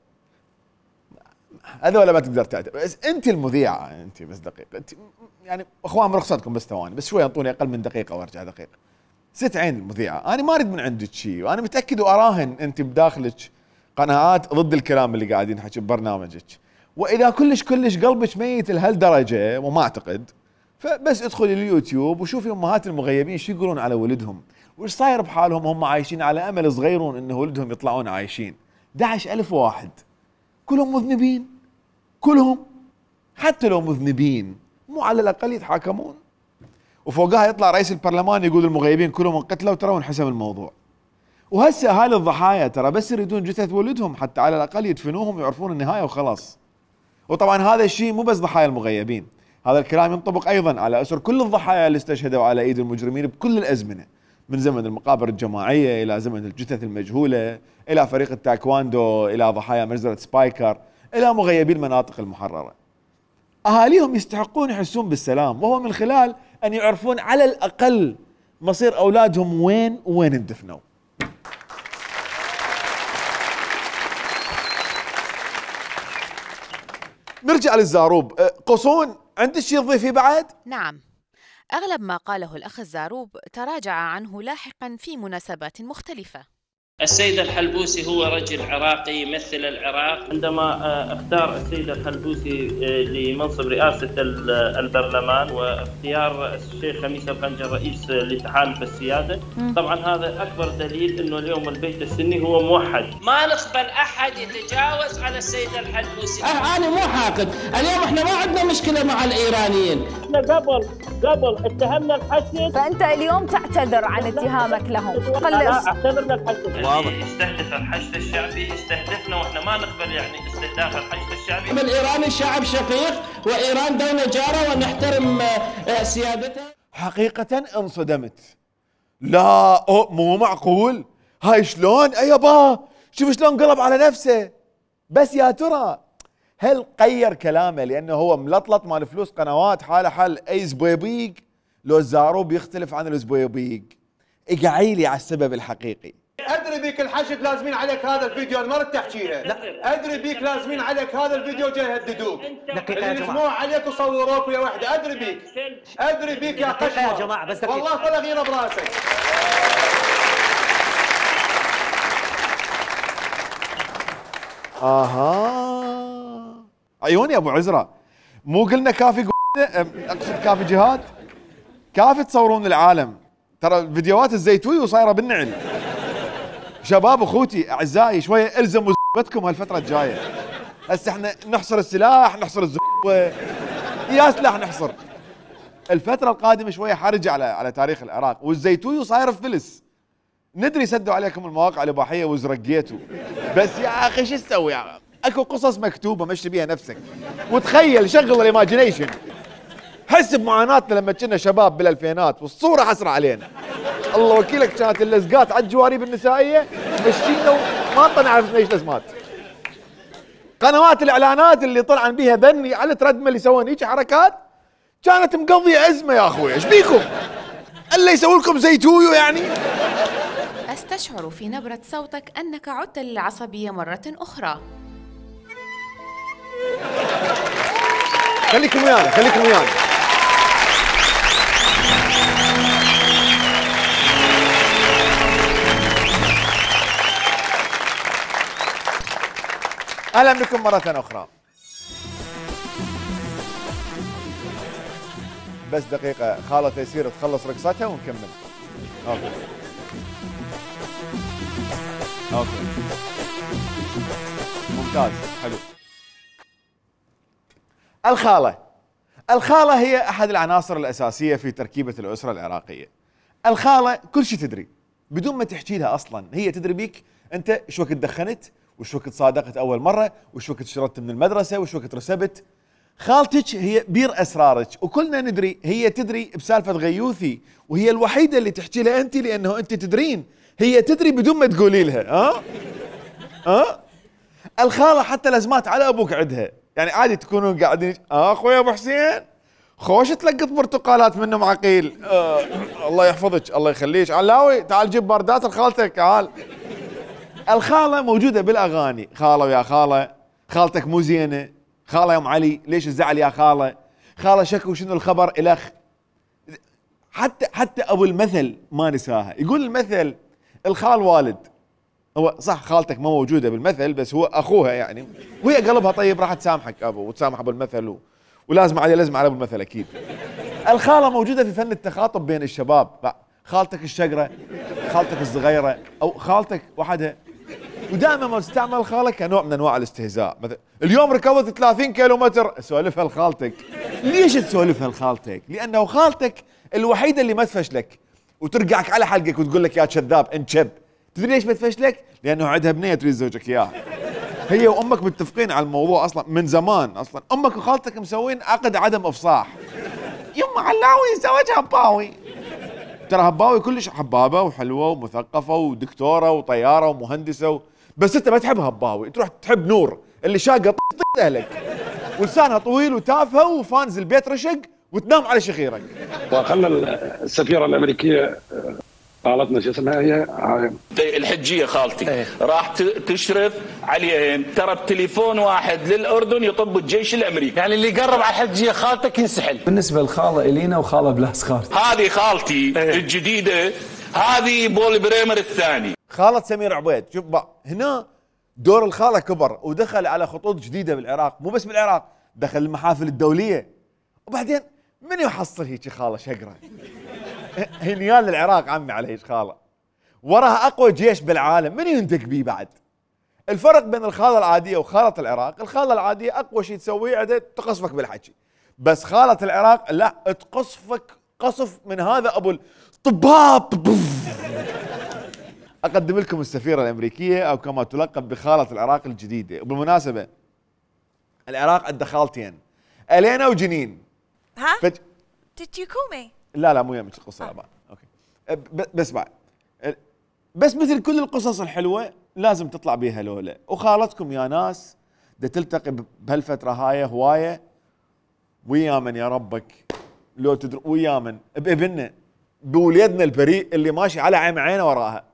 هذول ما تقدر تعتبر. بس انت المذيعه، انت بس دقيقه، انت يعني اخوان برخصتكم بس ثواني، بس شوي انطوني اقل من دقيقه وارجع دقيقه. ست عين المذيعه، انا ما اريد من عندك شيء، وانا متاكد واراهن انت بداخلك قناعات ضد الكلام اللي قاعدين نحكي ببرنامجك، واذا كلش قلبك ميت لهالدرجه وما اعتقد، فبس ادخلي اليوتيوب وشوفي امهات المغيبين شو يقولون على ولدهم، وش صاير بحالهم هم عايشين على امل صغيرون انه ولدهم يطلعون عايشين. 11,000 واحد كلهم مذنبين، كلهم، حتى لو مذنبين مو على الاقل يتحاكمون. وفوقها يطلع رئيس البرلمان يقول المغيبين كلهم انقتلوا ترى وانحسم الموضوع. وهسه اهالي الضحايا ترى بس يريدون جثث ولدهم حتى على الاقل يدفنوهم ويعرفون النهايه وخلاص. وطبعا هذا الشيء مو بس ضحايا المغيبين، هذا الكلام ينطبق ايضا على اسر كل الضحايا اللي استشهدوا على ايد المجرمين بكل الازمنه، من زمن المقابر الجماعيه الى زمن الجثث المجهوله، الى فريق التايكواندو، الى ضحايا مجزره سبايكر، الى مغيبي المناطق المحرره. اهاليهم يستحقون يحسون بالسلام، وهو من خلال ان يعرفون على الاقل مصير اولادهم وين اندفنوا. نرجع للزاروب. قصون، عندك شيء تضيفيه بعد؟ نعم، أغلب ما قاله الأخ الزاروب تراجع عنه لاحقا في مناسبات مختلفة. السيد الحلبوسي هو رجل عراقي يمثل العراق. عندما اختار السيد الحلبوسي لمنصب رئاسة البرلمان واختيار الشيخ خميس الخنجر رئيس لتحالف السيادة، طبعا هذا أكبر دليل أنه اليوم البيت السني هو موحد. ما نقبل أحد يتجاوز على السيد الحلبوسي. أنا مو حاقد، اليوم احنا ما عندنا مشكلة مع الإيرانيين. احنا قبل اتهمنا الحشد، فأنت اليوم تعتذر عن اتهامك لهم. لا اعتذر للحشد. واضح. يستهدف الحشد الشعبي يستهدفنا واحنا ما نقبل يعني استهداف الحشد الشعبي. الإيراني شعب شقيق وإيران دولة جارة ونحترم سيادتها. حقيقة انصدمت. لا مو معقول، هاي شلون؟ يابا شوف شلون قلب على نفسه. بس يا ترى هل غير كلامه لانه هو ملطلط مال فلوس قنوات حاله حال اي زبيبيق، لو الزاروب يختلف عن الزبيبيق؟ اقعيلي على السبب الحقيقي. ادري بيك الحشد لازمين عليك هذا الفيديو، انا ما ردت تحكيها. ادري بيك لازمين عليك هذا الفيديو جاي يهددوك. يجمعوا عليك وصوروك ويا وحده، ادري بيك يا قشمه يا جماعه، بس والله طلع غيره براسك. عيوني يا ابو عزرة، مو قلنا كافي اقصد كافي جهاد؟ كافي تصورون العالم، ترى فيديوهات الزيتوي وصايره بالنعل. شباب اخوتي اعزائي شويه الزموا زبتكم هالفتره الجايه. هسه احنا نحصر السلاح، نحصر الزبوه، يا سلاح نحصر. الفتره القادمه شويه حرجه على تاريخ العراق، والزيتوي وصاير فلس. ندري سدوا عليكم المواقع الاباحيه وزرقيتوا، بس يا اخي شو تسوي؟ اكو قصص مكتوبه مشي بيها نفسك، وتخيل شغل الايماجينيشن. حس بمعاناتنا لما كنا شباب بالالفينات والصوره حسره علينا. الله وكيلك كانت اللزقات على الجواريب النسائيه مشينا وما نعرف ايش لازمات. قنوات الاعلانات اللي طلعن بيها ذني على تردمل اللي يسوون هيك حركات كانت مقضيه ازمه. يا اخوي ايش بيكم؟ الا يسوي لكم زيتويو يعني. أستشعر في نبرة صوتك أنك عدت للعصبية مرة أخرى. خليكم ويانا خليكم ويانا. اهلا بكم مرة اخرى. بس دقيقة خالة تيسير تخلص رقصتها ونكمل. اوكي ممتاز حلو. الخالة هي احد العناصر الاساسية في تركيبة الاسرة العراقية. الخالة كل شيء تدري بدون ما تحكي لها اصلا، هي تدري بيك انت شو وقت دخنت، وش وقت صادقت اول مرة، وش وقت شردت من المدرسة، وش وقت رسبت. خالتك هي بير اسرارك، وكلنا ندري هي تدري بسالفة غيوثي، وهي الوحيدة اللي تحكي لها انت لانه انت تدرين، هي تدري بدون ما تقولي لها. الخالة حتى الازمات على ابوك عندها، يعني عادي تكونون قاعدين اخوي ابو حسين خوش تلقط برتقالات منه معقيل. الله يحفظك الله يخليك علاوي تعال جيب باردات لخالتك تعال. الخالة موجودة بالاغاني، خالة ويا خالة، خالتك مو زينة، خالة يا ام علي ليش الزعل يا خالة، خالة شكو شنو الخبر الخ. حتى ابو المثل ما نساها، يقول المثل الخال والد هو صح خالتك ما موجوده بالمثل بس هو اخوها يعني، وهي قلبها طيب راح تسامحك ابو وتسامح ابو المثل ولازم عليه لازم على ابو المثل اكيد. الخاله موجوده في فن التخاطب بين الشباب، خالتك الشقره، خالتك الصغيره او خالتك وحدها، ودائما ما تستعمل خالك كنوع من انواع الاستهزاء. مثلا اليوم ركضت 30 كيلو متر، سولفها لخالتك. ليش تسولفها لخالتك؟ لانه خالتك الوحيده اللي ما تفشلك وترقعك على حلقك وتقول لك يا كذاب انت شب. تدري ليش ما تفشلك؟ لانه عندها بنيه تريد زوجك اياها. هي وامك متفقين على الموضوع اصلا من زمان، اصلا امك وخالتك مسوين عقد عدم افصاح. يما علاوي زوجها هباوي. ترى هباوي كلش حبابه وحلوه ومثقفه ودكتوره وطياره ومهندسه بس انت ما تحب هباوي، تروح تحب نور اللي شاقه اهلك ولسانها طويل وتافهه وفانز البيت رشق وتنام على شخيرك. وخلنا السفيره الامريكيه قالتنا شو اسمها هي الحجيه خالتي راح تشرف عليهم، ترى بتليفون واحد للاردن يطب الجيش الامريكي. يعني اللي يقرب على الحجيه خالتك ينسحل. بالنسبه لخاله الينا وخاله بلاس خالتي، هذه خالتي الجديده، هذه بول بريمر الثاني. خالة سمير عبيد. شوف بقى هنا دور الخالة كبر ودخل على خطوط جديدة بالعراق، مو بس بالعراق، دخل المحافل الدولية. وبعدين من يحصل هيك خالة شقرة؟ هي نيال العراق عمي على هيك خالة، وراها أقوى جيش بالعالم، من يندق بيه بعد؟ الفرق بين الخالة العادية وخالة العراق، الخالة العادية أقوى شيء تسويه عندها تقصفك بالحكي، بس خالة العراق لا تقصفك قصف من هذا أبو الطباب. أقدم لكم السفيرة الأمريكية أو كما تلقب بخالة العراق الجديدة. وبالمناسبة العراق عنده خالتين، ألينا وجنين. ها؟ Did you call me؟ لا مو يمك القصة لا أوكي. بس بعد بس مثل كل القصص الحلوة لازم تطلع بيها لولة، وخالتكم يا ناس دا تلتقي بهالفترة هاي هواية ويا من يا ربك لو تدري ويا من بابننا بوليدنا البريء اللي ماشي على عينه وراها.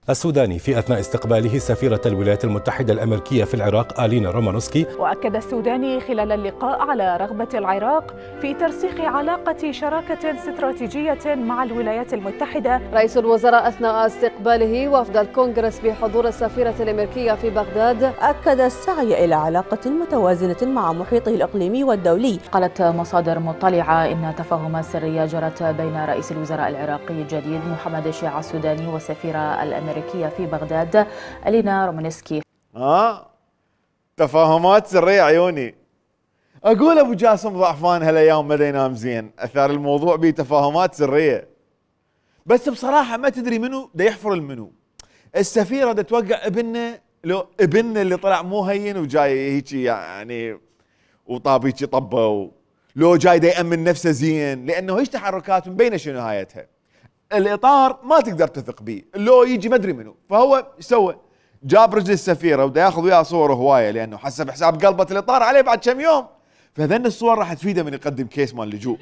السوداني في أثناء استقباله سفيرة الولايات المتحدة الأمريكية في العراق آلينا رومانوسكي. وأكد السوداني خلال اللقاء على رغبة العراق في ترسيخ علاقة شراكة استراتيجية مع الولايات المتحدة. رئيس الوزراء أثناء استقباله وفد الكونغرس بحضور السفيرة الأمريكية في بغداد أكد السعي إلى علاقة متوازنة مع محيطه الإقليمي والدولي. قالت مصادر مطلعة إن تفاهمات سرية جرت بين رئيس الوزراء العراقي الجديد محمد الشيع السوداني والسفيرة الأمريكية في بغداد آلينا رومانسكي. تفاهمات سرية عيوني. اقول ابو جاسم ضعفان هالايام ما ينام زين، اثار الموضوع به تفاهمات سرية. بس بصراحة ما تدري منو دا يحفر المنو. السفيرة دا توقع ابننا، لو ابننا اللي طلع مو هين وجاي هيجي يعني وطاب هيجي طبه، لو جاي دا يأمن نفسه زين، لانه هيج تحركات مبينة شنو نهايتها. الاطار ما تقدر تثق به، لو يجي ما ادري منو، فهو ايش سوى؟ جاب رجل السفيره وبدا ياخذ وياه صور هوايه لانه حسب حساب قلبه الاطار عليه بعد كم يوم، فهذن الصور راح تفيده من يقدم كيس مال لجوء.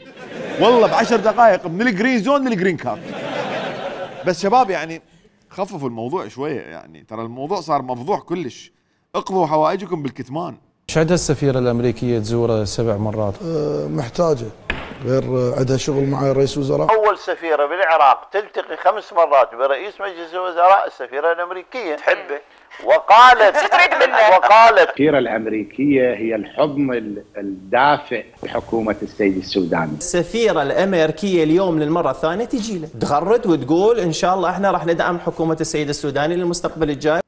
والله ب10 دقائق من الجرين زون للجرين كارد. بس شباب يعني خففوا الموضوع شويه، يعني ترى الموضوع صار مفضوح كلش، اقضوا حوائجكم بالكتمان. ايش عندها السفيره الامريكيه تزوره 7 مرات؟ محتاجه، غير عندها شغل مع رئيس وزراء. اول سفيره بالعراق تلتقي 5 مرات برئيس مجلس الوزراء السفيره الامريكيه تحبه، وقالت السفيره الامريكيه هي الحضن الدافئ لحكومه السيد السوداني. السفيره الامريكيه اليوم للمره الثانيه تجي له تغرد وتقول ان شاء الله احنا راح ندعم حكومه السيد السوداني للمستقبل الجاي.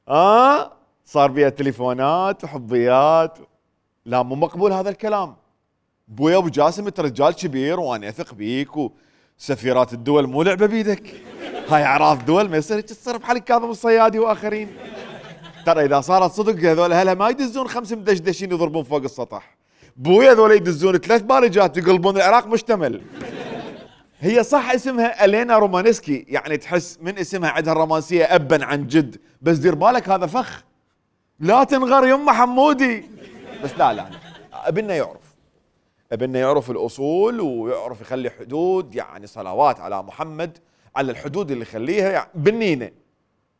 صار بيها تليفونات وحظيات. لا مو مقبول هذا الكلام. بويا ابو جاسم انت رجال كبير وانا اثق بيك، وسفيرات الدول مو لعبه بيدك، هاي اعراف دول ما يصير تصرف حالك كاظم الصيادي واخرين. ترى اذا صارت صدق هذول اهلها ما يدزون 5 مدشدشين يضربون فوق السطح، بويا هذول يدزون 3 بارجات يقلبون العراق مشتمل. هي صح اسمها آلينا رومانسكي، يعني تحس من اسمها عندها الرومانسيه ابا عن جد، بس دير بالك هذا فخ، لا تنغر يمه حمودي. بس لا ابننا يعرف الأصول ويعرف يخلي حدود، يعني صلوات على محمد على الحدود اللي يخليها، يعني بنينه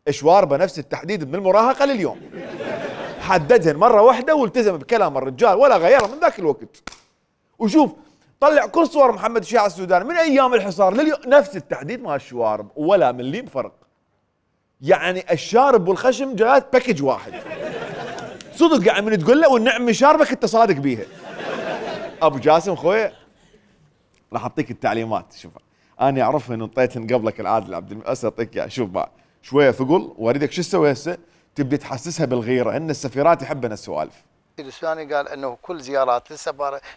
اشواربه نفس التحديد من المراهقة لليوم، حددهن مرة واحدة والتزم بكلام الرجال ولا غيرها من ذاك الوقت. وشوف طلع كل صور محمد الشيع السوداني من أيام الحصار لليوم نفس التحديد مال الشوارب ولا مليم فرق. يعني الشارب والخشم جايات باكج واحد. صدق يعني من تقول له والنعم شاربك انت صادق بيها. ابو جاسم خويا راح اعطيك التعليمات. شوف انا اعرفها ان انطيتهن قبلك العادل عبد المؤسس، اعطيك اياها. شوف بقى شويه ثقل واريدك شو تسوي هسه؟ تبدي تحسسها بالغيره، ان السفيرات يحبن السوالف. السوداني قال انه كل زيارات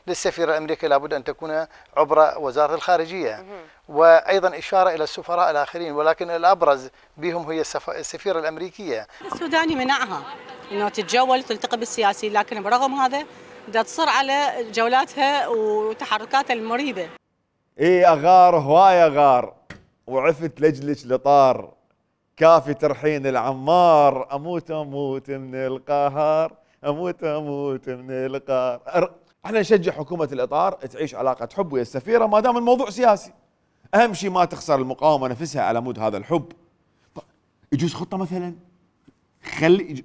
للسفير الامريكي لابد ان تكون عبر وزاره الخارجيه، وايضا اشاره الى السفراء الاخرين، ولكن الابرز بهم هي السفيره الامريكيه. السوداني منعها انه تتجول وتلتقي بالسياسيين، لكن برغم هذا بدها تصر على جولاتها وتحركاتها المريبه. اي اغار هوايه غار وعفت لجلج لطار، كافي ترحين العمار، اموت من القهر، اموت من القهر. احنا نشجع حكومه الاطار تعيش علاقه حب ويا السفيره ما دام الموضوع سياسي. اهم شيء ما تخسر المقاومه نفسها على مود هذا الحب. يجوز خطه مثلا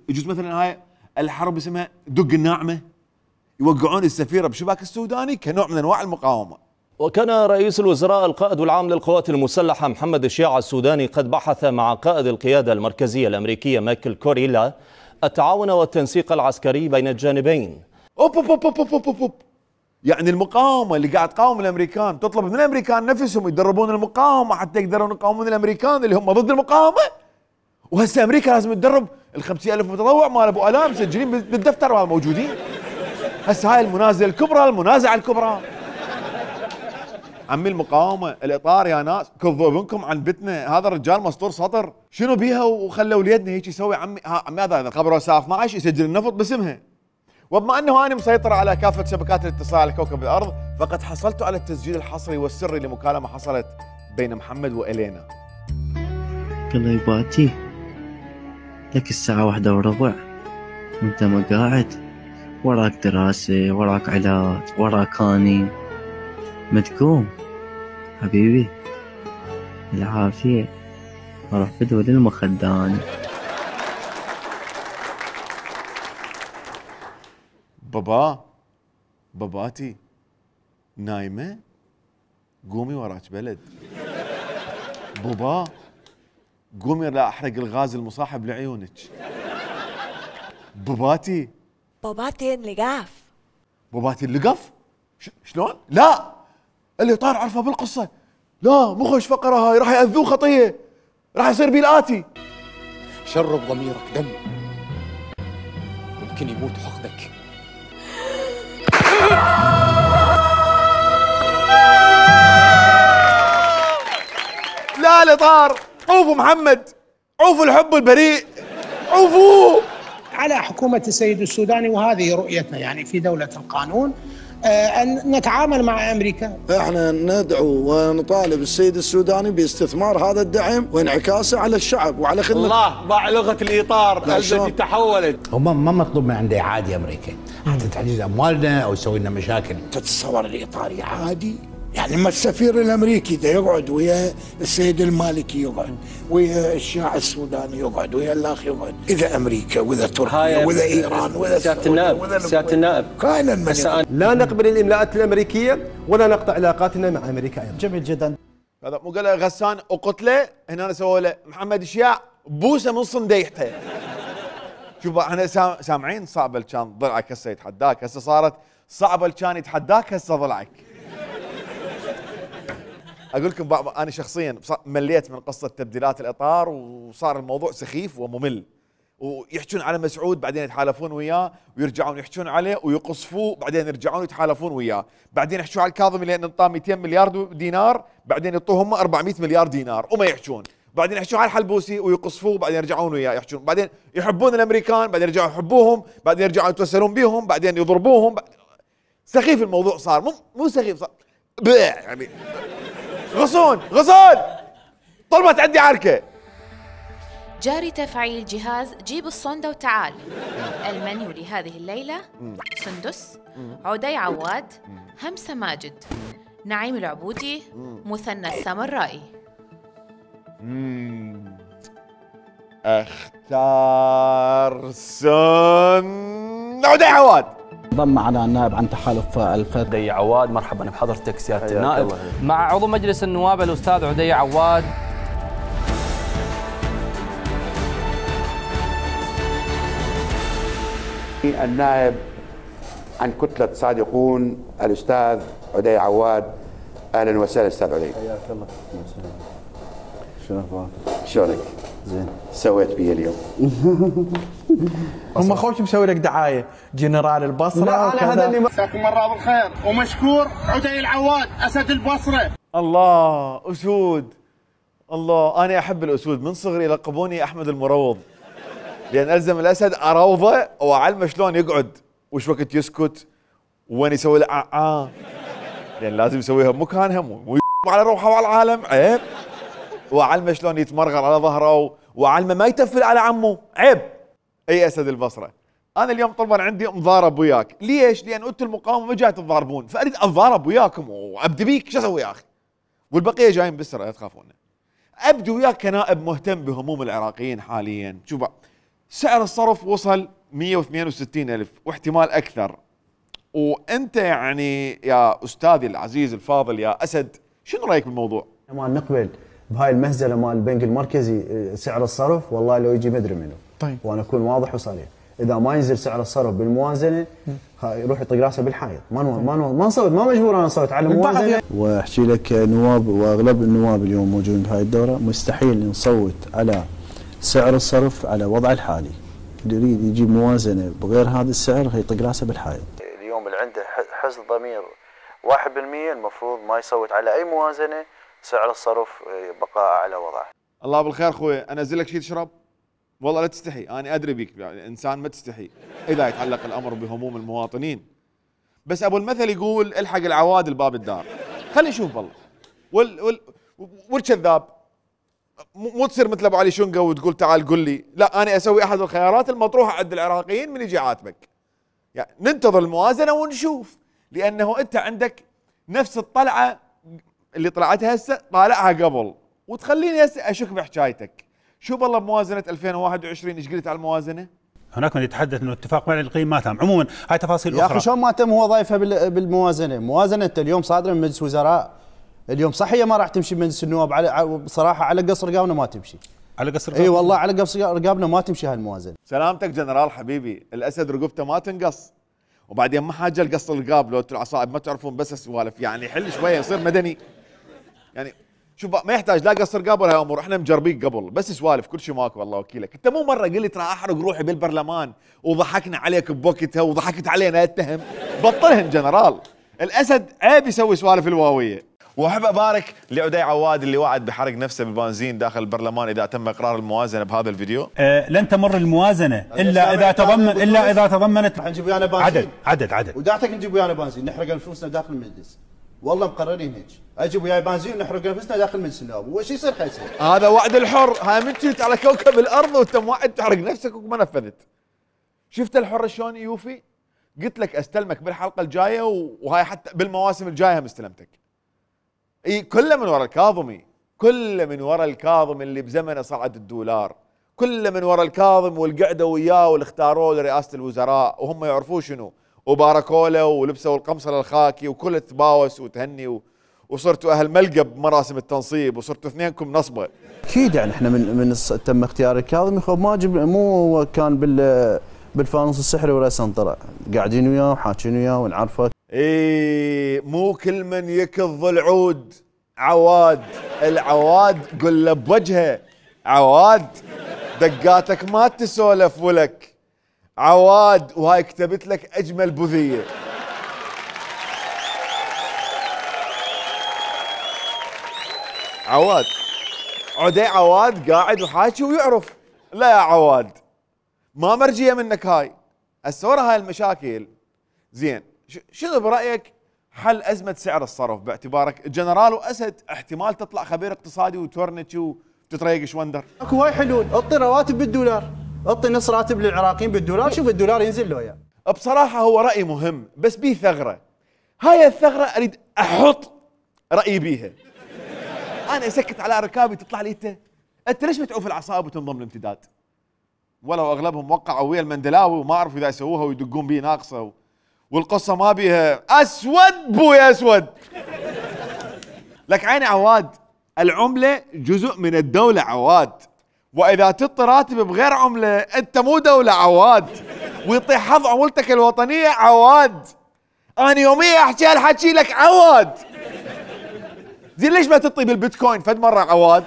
يجوز مثلا هاي الحرب اسمها دق الناعمه، يوقعون السفيره بشباك السوداني كنوع من انواع المقاومه. وكان رئيس الوزراء القائد العام للقوات المسلحة محمد الشيع السوداني قد بحث مع قائد القيادة المركزية الأمريكية مايكل كوريلا التعاون والتنسيق العسكري بين الجانبين. أوب. يعني المقاومة اللي قاعد تقاوم الأمريكان تطلب من الأمريكان نفسهم يدربون المقاومة حتى يقدرون يقاومون الأمريكان اللي هم ضد المقاومة. وهسه أمريكا لازم تدرب ال50,000 متطوع مال أبو ألام مسجلين بالدفتر موجودين. هسه هاي المنازعة الكبرى. عمي المقاومة الإطار يا ناس كذوا ابنكم عن بتنا، هذا الرجال مسطور سطر، شنو بيها وخلوا وليدنا هيك يسوي. عمي هذا قبل الساعة 12 يسجل النفط باسمها. وبما انه انا مسيطر على كافة شبكات الاتصال على كوكب الارض، فقد حصلت على التسجيل الحصري والسري لمكالمة حصلت بين محمد وإلينا. قال له يباتي لك الساعة 1:15 وانت ما قاعد، وراك دراسة، وراك علاج، وراك اني، ما تقوم حبيبي العافية، اروح بدور المخدان. باباتي نايمة؟ قومي وراك بلد. بابا قومي لا احرق الغاز المصاحب لعيونك. باباتي اللقاف. باباتي اللقف؟ شلون؟ لا اللي طار عرفه بالقصة. لا مو خوش فقرة هاي، راح يأذوه خطية، راح يصير بيه الآتي. شرب ضميرك دم، ممكن يموت حقدك. لا الإطار، عوفوا محمد، عوفوا الحب البريء، عوفوه. على حكومة السيد السوداني، وهذه رؤيتنا يعني في دولة القانون، أن نتعامل مع أمريكا. احنا ندعو ونطالب السيد السوداني باستثمار هذا الدعم وانعكاسه على الشعب وعلى خدمة الله. ضاع لغة الإطار التي تحولت. هم ما مطلوب من عنده إعادة أمريكا حتى تحجز أموالنا أو يسوي لنا مشاكل. تتصور الإطار عادي؟ يعني ما السفير الامريكي ده يقعد ويا السيد المالكي، يقعد ويا الشاع السوداني، يقعد ويا الاخ، يقعد اذا امريكا واذا تركيا واذا ايران واذا سيادة النائب كائنا من لا نقبل الاملاءات الامريكيه ولا نقطع علاقاتنا مع امريكا ايضا. جميل جدا. هذا مو قال غسان وقتله، هنا أنا سووا له محمد الشياع بوسه من صنديحته. شوف احنا سامعين صعبه كان ضلعك هسه يتحداك، هسه صارت صعبه كان يتحداك هسه ضلعك. اقول لكم انا شخصيا مليت من قصه تبديلات الاطار، وصار الموضوع سخيف وممل، ويحجون على مسعود بعدين يتحالفون وياه، ويرجعون يحجون عليه ويقصفوه، بعدين يرجعون يتحالفون وياه، بعدين يحجون على الكاظمي لان انطاه 200 مليار دينار، بعدين يعطوهم 400 مليار دينار وما يحجون، بعدين يحجون على الحلبوسي ويقصفوه، بعدين يرجعون وياه يحجون، بعدين يحبون الامريكان، بعدين يرجعون يحبوهم، بعدين يرجعون يتوسلون بهم، بعدين يضربوهم. سخيف الموضوع صار، مو سخيف صار يعني غصون طلبت عندي عركة. جاري تفعيل جهاز جيب الصندة وتعال. المنيو لهذه الليلة: سندس، عدي عواد، همسة ماجد، نعيم العبودي، مثنى السامرائي. اختار سن عدي عواد. انضم معنا النائب عن تحالف الفتح عدي عواد. مرحبا بحضرتك سيادة النائب. مع عضو مجلس النواب الأستاذ عدي عواد. النائب عن كتلة صادقون الأستاذ عدي عواد. أهلا وسهلا أستاذ عدي. حياك الله. شلون اخبارك؟ شلونك؟ زين. سويت بيه اليوم؟ هم خوش مسوي لك دعايه جنرال البصره. لا انا هذا اللي مساكم الله بالخير ومشكور عدي العواد اسد البصره. الله اسود. الله انا احب الاسود من صغري يلقبوني احمد المروض، لان الزم الاسد اروضه واعلمه شلون يقعد وش وقت يسكت وين يسوي له لان لازم يسويها بمكانها مو على روحه وعلى العالم عيب. واعلمه شلون يتمرغر على ظهره واعلمه ما يتفل على عمه عيب. اي اسد البصره. انا اليوم طبعا عندي مضارب وياك. ليش؟ لان انتم المقاومه ما جاي تتضاربون، فاريد اتضارب وياكم وابدي بيك. شو اسوي يا اخي؟ والبقيه جايين بالسرعه لا تخافون. ابدي وياك كنائب مهتم بهموم العراقيين حاليا. شوف سعر الصرف وصل 162,000 واحتمال اكثر، وانت يعني يا استاذي العزيز الفاضل يا اسد شنو رايك بالموضوع؟ ما نقبل بهاي المهزله مال البنك المركزي سعر الصرف، والله لو يجي مدري منه. طيب وانا اكون واضح وصريح، اذا ما ينزل سعر الصرف بالموازنه يروح يطق راسه بالحائط. ما نصوت، ما مجبور انا اصوت على الموازنه. واحكي لك نواب واغلب النواب اليوم موجودين بهاي الدوره مستحيل نصوت على سعر الصرف على وضع الحالي. اللي يريد يجيب موازنه بغير هذا السعر يطق راسه بالحائط. اليوم اللي عنده حزن ضمير 1% المفروض ما يصوت على اي موازنه سعر الصرف بقاء على وضعه. الله بالخير اخوي، انزل لك شيء تشرب؟ والله لا تستحي، انا ادري بيك يعني انسان ما تستحي اذا يتعلق الامر بهموم المواطنين. بس ابو المثل يقول الحق العواد الباب الدار. خلي نشوف والله. والكذاب مو تصير مثل ابو علي شنقه وتقول تعال قل لي، لا انا اسوي احد الخيارات المطروحه عند العراقيين من يجي عاتبك. يعني ننتظر الموازنه ونشوف، لانه انت عندك نفس الطلعه اللي طلعتها هسه طالعها قبل، وتخليني هسه اشك بحكايتك. شو بالله بموازنه 2021 ايش قلت على الموازنه؟ هناك من يتحدث انه اتفاق مع القيم ما تم، عموما هاي تفاصيل اخرى. يا اخي شلون ما تم هو ضايفها بالموازنه؟ موازنه انت اليوم صادره من مجلس وزراء، اليوم صح هي ما راح تمشي بمجلس النواب بصراحه على قصر رقابنا ما تمشي. على قصر رقابنا؟ اي والله على قصر رقابنا ما تمشي هالموازنه. سلامتك جنرال حبيبي، الاسد رقبته ما تنقص. وبعدين ما حاجه لقص الرقاب لو انتم العصائب ما تعرفون بس السوالف، يعني حل شويه يصير مدني. يعني شوف ما يحتاج لا قص رقاب ولا امور، احنا مجربيك قبل بس سوالف كل شيء ماكو والله وكيلك. انت مو مره قلت ترى احرق روحي بالبرلمان وضحكنا عليك بوقتها وضحكت علينا اتهم. بطلهن جنرال، الاسد عيب يسوي سوالف الواويه. واحب ابارك لعدي عواد اللي وعد بحرق نفسه بالبنزين داخل البرلمان اذا تم اقرار الموازنه بهذا الفيديو. لن تمر الموازنه الا اذا تضمنت نجيب ويانا بنزين عدد ودعتك نجيب ويانا بنزين نحرق انفسنا داخل المجلس. والله مقررين هيك، اجيب وياي بنزين ونحرق انفسنا داخل مجلس النواب، وش يصير حيصير. هذا وعد الحر، هاي من جيت على كوكب الارض وانت موعد تحرق نفسك وما نفذت. شفت الحر شلون يوفي؟ قلت لك استلمك بالحلقه الجايه وهاي حتى بالمواسم الجايه هم استلمتك. اي كله من ورا الكاظمي، كله من ورا الكاظم اللي بزمنه صعد الدولار، كله من ورا الكاظم والقعده وياه واللي اختاروه لرئاسه الوزراء وهم يعرفون شنو، وباركوا له ولبسوا القمصله الخاكي وكل تباوس وتهني وصرتوا اهل ملقى بمراسم التنصيب وصرتوا اثنينكم نصبه. اكيد يعني احنا من تم اختيار الكاظمي ما مو كان بالفانوس السحري ولا سنطره، قاعدين وياه وحاكين وياه ونعرفه. اي مو كل من يكظ العود عواد، العواد قل له بوجهه عواد دقاتك ما تسولف ولك عواد، وهاي كتبت لك اجمل بذيه. عواد عدي عواد قاعد وحاكي ويعرف. لا يا عواد ما مرجيه منك هاي هسه ورا هاي المشاكل. زين شنو برايك حل ازمه سعر الصرف باعتبارك جنرال واسد احتمال تطلع خبير اقتصادي وتورنتش وتتريق شوندر؟ اكو هاي حلول، اعطي رواتب بالدولار، اعطي نص راتب للعراقيين بالدولار، شوف الدولار ينزل له اياه. بصراحه هو راي مهم بس بيه ثغره، هاي الثغره اريد احط رايي بيها. انا اسكت على ركابي تطلع لي انت ليش بتعوف العصائب وتنضم الامتداد؟ ولو اغلبهم وقعوا ويا المندلاوي وما عرفوا اذا يسووها ويدقون بيه ناقصه والقصه ما بيها اسود بويا اسود. لك عيني عواد، العمله جزء من الدوله عواد، واذا تعطي راتب بغير عمله انت مو دوله عواد. ويطيح حظ عمولتك الوطنيه عواد. انا يوميا احكي هالحكي لك عواد. زين ليش ما تطي بالبيتكوين فد مره عواد؟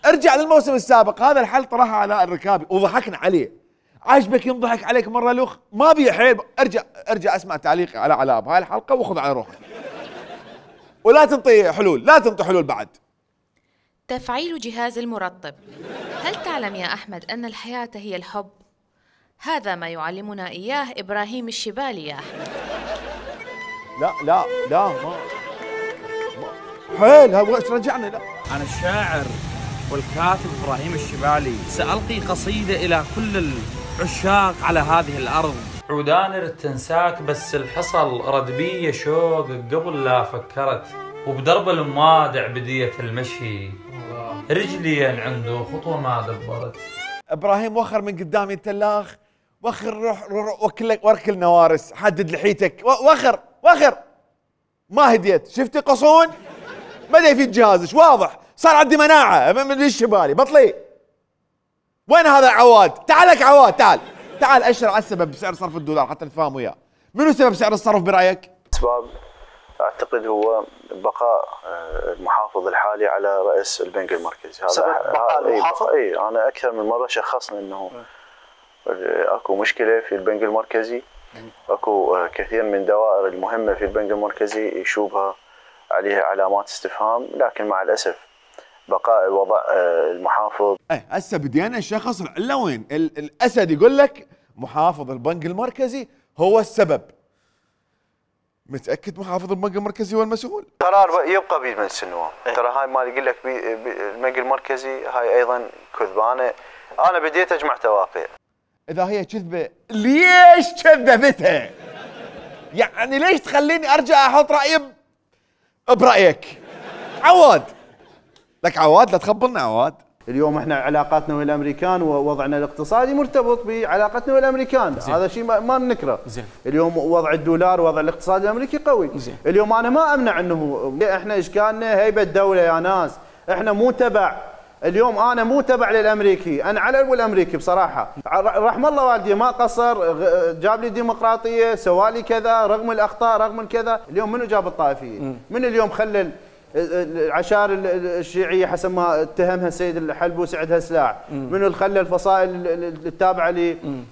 ارجع للموسم السابق، هذا الحل طرحه علاء الركابي وضحكنا عليه. عاجبك ينضحك عليك مره لوخ؟ ما بيه حيل. ارجع اسمع تعليقي على علاء بهاي الحلقه وخذ على روحك. ولا تنطي حلول، لا تنطي حلول بعد. تفعيل جهاز المرطب. هل تعلم يا أحمد أن الحياة هي الحب؟ هذا ما يعلمنا إياه إبراهيم الشبالي يا أحمد. لا ما حيل ايش رجعنا. لا أنا الشاعر والكاتب إبراهيم الشبالي سألقي قصيدة إلى كل العشاق على هذه الأرض. عوداني رد تنساك بس الحصل رد بي شوق قبل لا فكرت، وبدرب الموادع بدية المشي رجلي عنده خطوة ما دبرت. ابراهيم وخر من قدامي التلاخ، وخر روح وركل نوارس، حدد لحيتك، وخر ما هديت. شفتي قصون؟ بدا يفيد جهازش واضح، صار عندي مناعة من الشبالي بطلي. وين هذا عواد؟ تعال لك عواد، تعال اشر على السبب بسعر صرف الدولار حتى نتفاهم وياه. منو سبب سعر الصرف برايك؟ اسباب اعتقد هو بقاء المحافظ الحالي على رئيس البنك المركزي. هذا بقاء المحافظ؟ اي انا اكثر من مره شخصنا انه اكو مشكله في البنك المركزي، اكو كثير من الدوائر المهمه في البنك المركزي يشوبها عليها علامات استفهام، لكن مع الاسف بقاء وضع المحافظ. هسه بدينا نشخص العله وين. الاسد يقول لك محافظ البنك المركزي هو السبب. متاكد محافظ البنك المركزي هو المسؤول؟ قرار يبقى بيد مجلس النواب. ترى هاي ما يقول لك البنك المركزي هاي ايضا كذبانه. انا بديت اجمع تواقيع. اذا هي كذبه ليش كذبتها؟ يعني ليش تخليني ارجع احط رايي برايك؟ عواد لك عواد، لا تخبرنا عواد. اليوم احنا علاقاتنا ويا الامريكان ووضعنا الاقتصادي مرتبط بعلاقتنا ويا الامريكان، هذا شيء ما ننكره. اليوم وضع الدولار وضع الاقتصاد الامريكي قوي. اليوم انا ما امنع انه احنا اشكالنا هيبه دوله يا ناس، احنا مو تبع. اليوم انا مو تبع للامريكي، انا على الامريكي بصراحه. رحم الله والدي ما قصر، جاب لي ديمقراطيه، سوالي كذا رغم الاخطاء رغم الكذا. اليوم منو جاب الطائفيه؟ من اليوم خلى العشائر الشيعيه حسب ما اتهمها السيد الحلبوسي عندها سلاح؟ منو اللي خلى الفصائل التابعه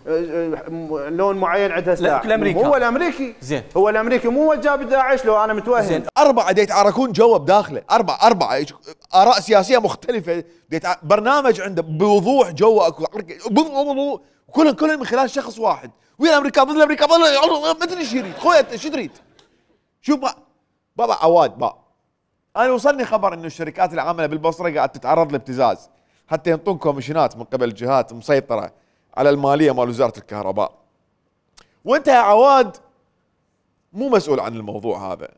للون معين عندها سلاح؟ هو الامريكي. زين هو الامريكي مو جاب داعش. لو انا متوهم 4 يتعاركون جوا بداخله، 4 اراء سياسيه مختلفه، برنامج عنده بوضوح جوا اكو كلهم من خلال شخص واحد. ويا الامريكان ضد الامريكان ما ادري ايش يريد. خويا ايش تريد؟ شوف بابا عواد انا وصلني خبر انه الشركات العامله بالبصره قاعد تتعرض لابتزاز حتى ينطون كوميشنات من قبل جهات مسيطره على الماليه مال وزاره الكهرباء. وانت يا عواد مو مسؤول عن الموضوع هذا،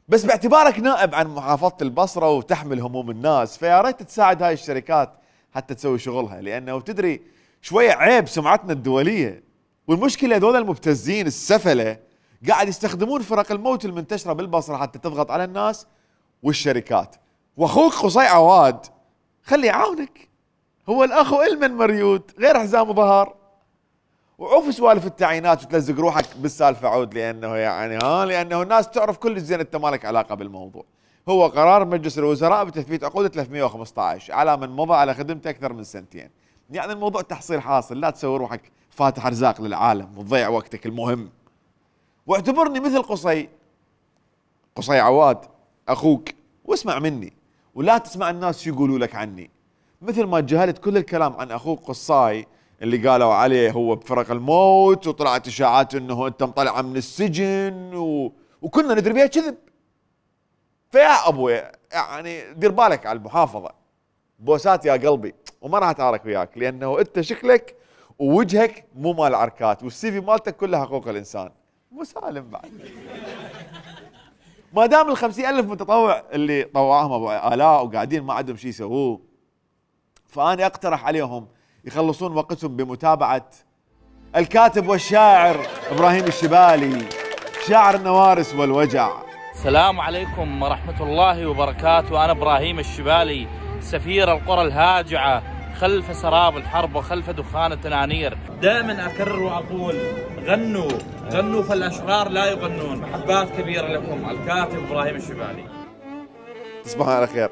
بس باعتبارك نائب عن محافظه البصره وتحمل هموم الناس، فيا ريت تساعد هاي الشركات حتى تسوي شغلها، لانه تدري شويه عيب سمعتنا الدوليه. والمشكله هذول المبتزين السفله قاعد يستخدمون فرق الموت المنتشره بالبصره حتى تضغط على الناس والشركات. واخوك قصي عواد خليه يعاونك، هو الاخ المن مريود غير حزام ظهر. وعوف سوالف التعيينات وتلزق روحك بالسالفه عود، لانه يعني لانه الناس تعرف كل زين انت مالك علاقه بالموضوع. هو قرار مجلس الوزراء بتثبيت عقود 315 على من مضى على خدمته اكثر من 2 سنين. يعني الموضوع تحصيل حاصل، لا تسوي روحك فاتح ارزاق للعالم وتضيع وقتك المهم. واعتبرني مثل قصي عواد اخوك، واسمع مني ولا تسمع الناس شو يقولوا لك عني. مثل ما تجاهلت كل الكلام عن اخوك قصاي اللي قالوا عليه هو بفرق الموت، وطلعت اشاعات انه انت مطلعه من السجن وكنا ندري بها كذب. فيا ابوي يعني دير بالك على المحافظه. بوسات يا قلبي، وما راح اتعارك وياك لانه انت شكلك ووجهك مو مال عركات، والسي في مالتك كلها حقوق الانسان. مسالم بعد. ما دام ال50,000 متطوع اللي طوعهم ابو آلاء وقاعدين ما عندهم شيء يسووه، فأنا اقترح عليهم يخلصون وقتهم بمتابعة الكاتب والشاعر إبراهيم الشبالي، شاعر النوارس والوجع. السلام عليكم ورحمة الله وبركاته. أنا إبراهيم الشبالي، سفير القرى الهاجعة خلف سراب الحرب وخلف دخان التنانير. دائما أكرر وأقول غنوا غنوا فالأشرار لا يغنون. محبات كبيرة لكم، الكاتب إبراهيم الشبالي. تصبحوا على خير.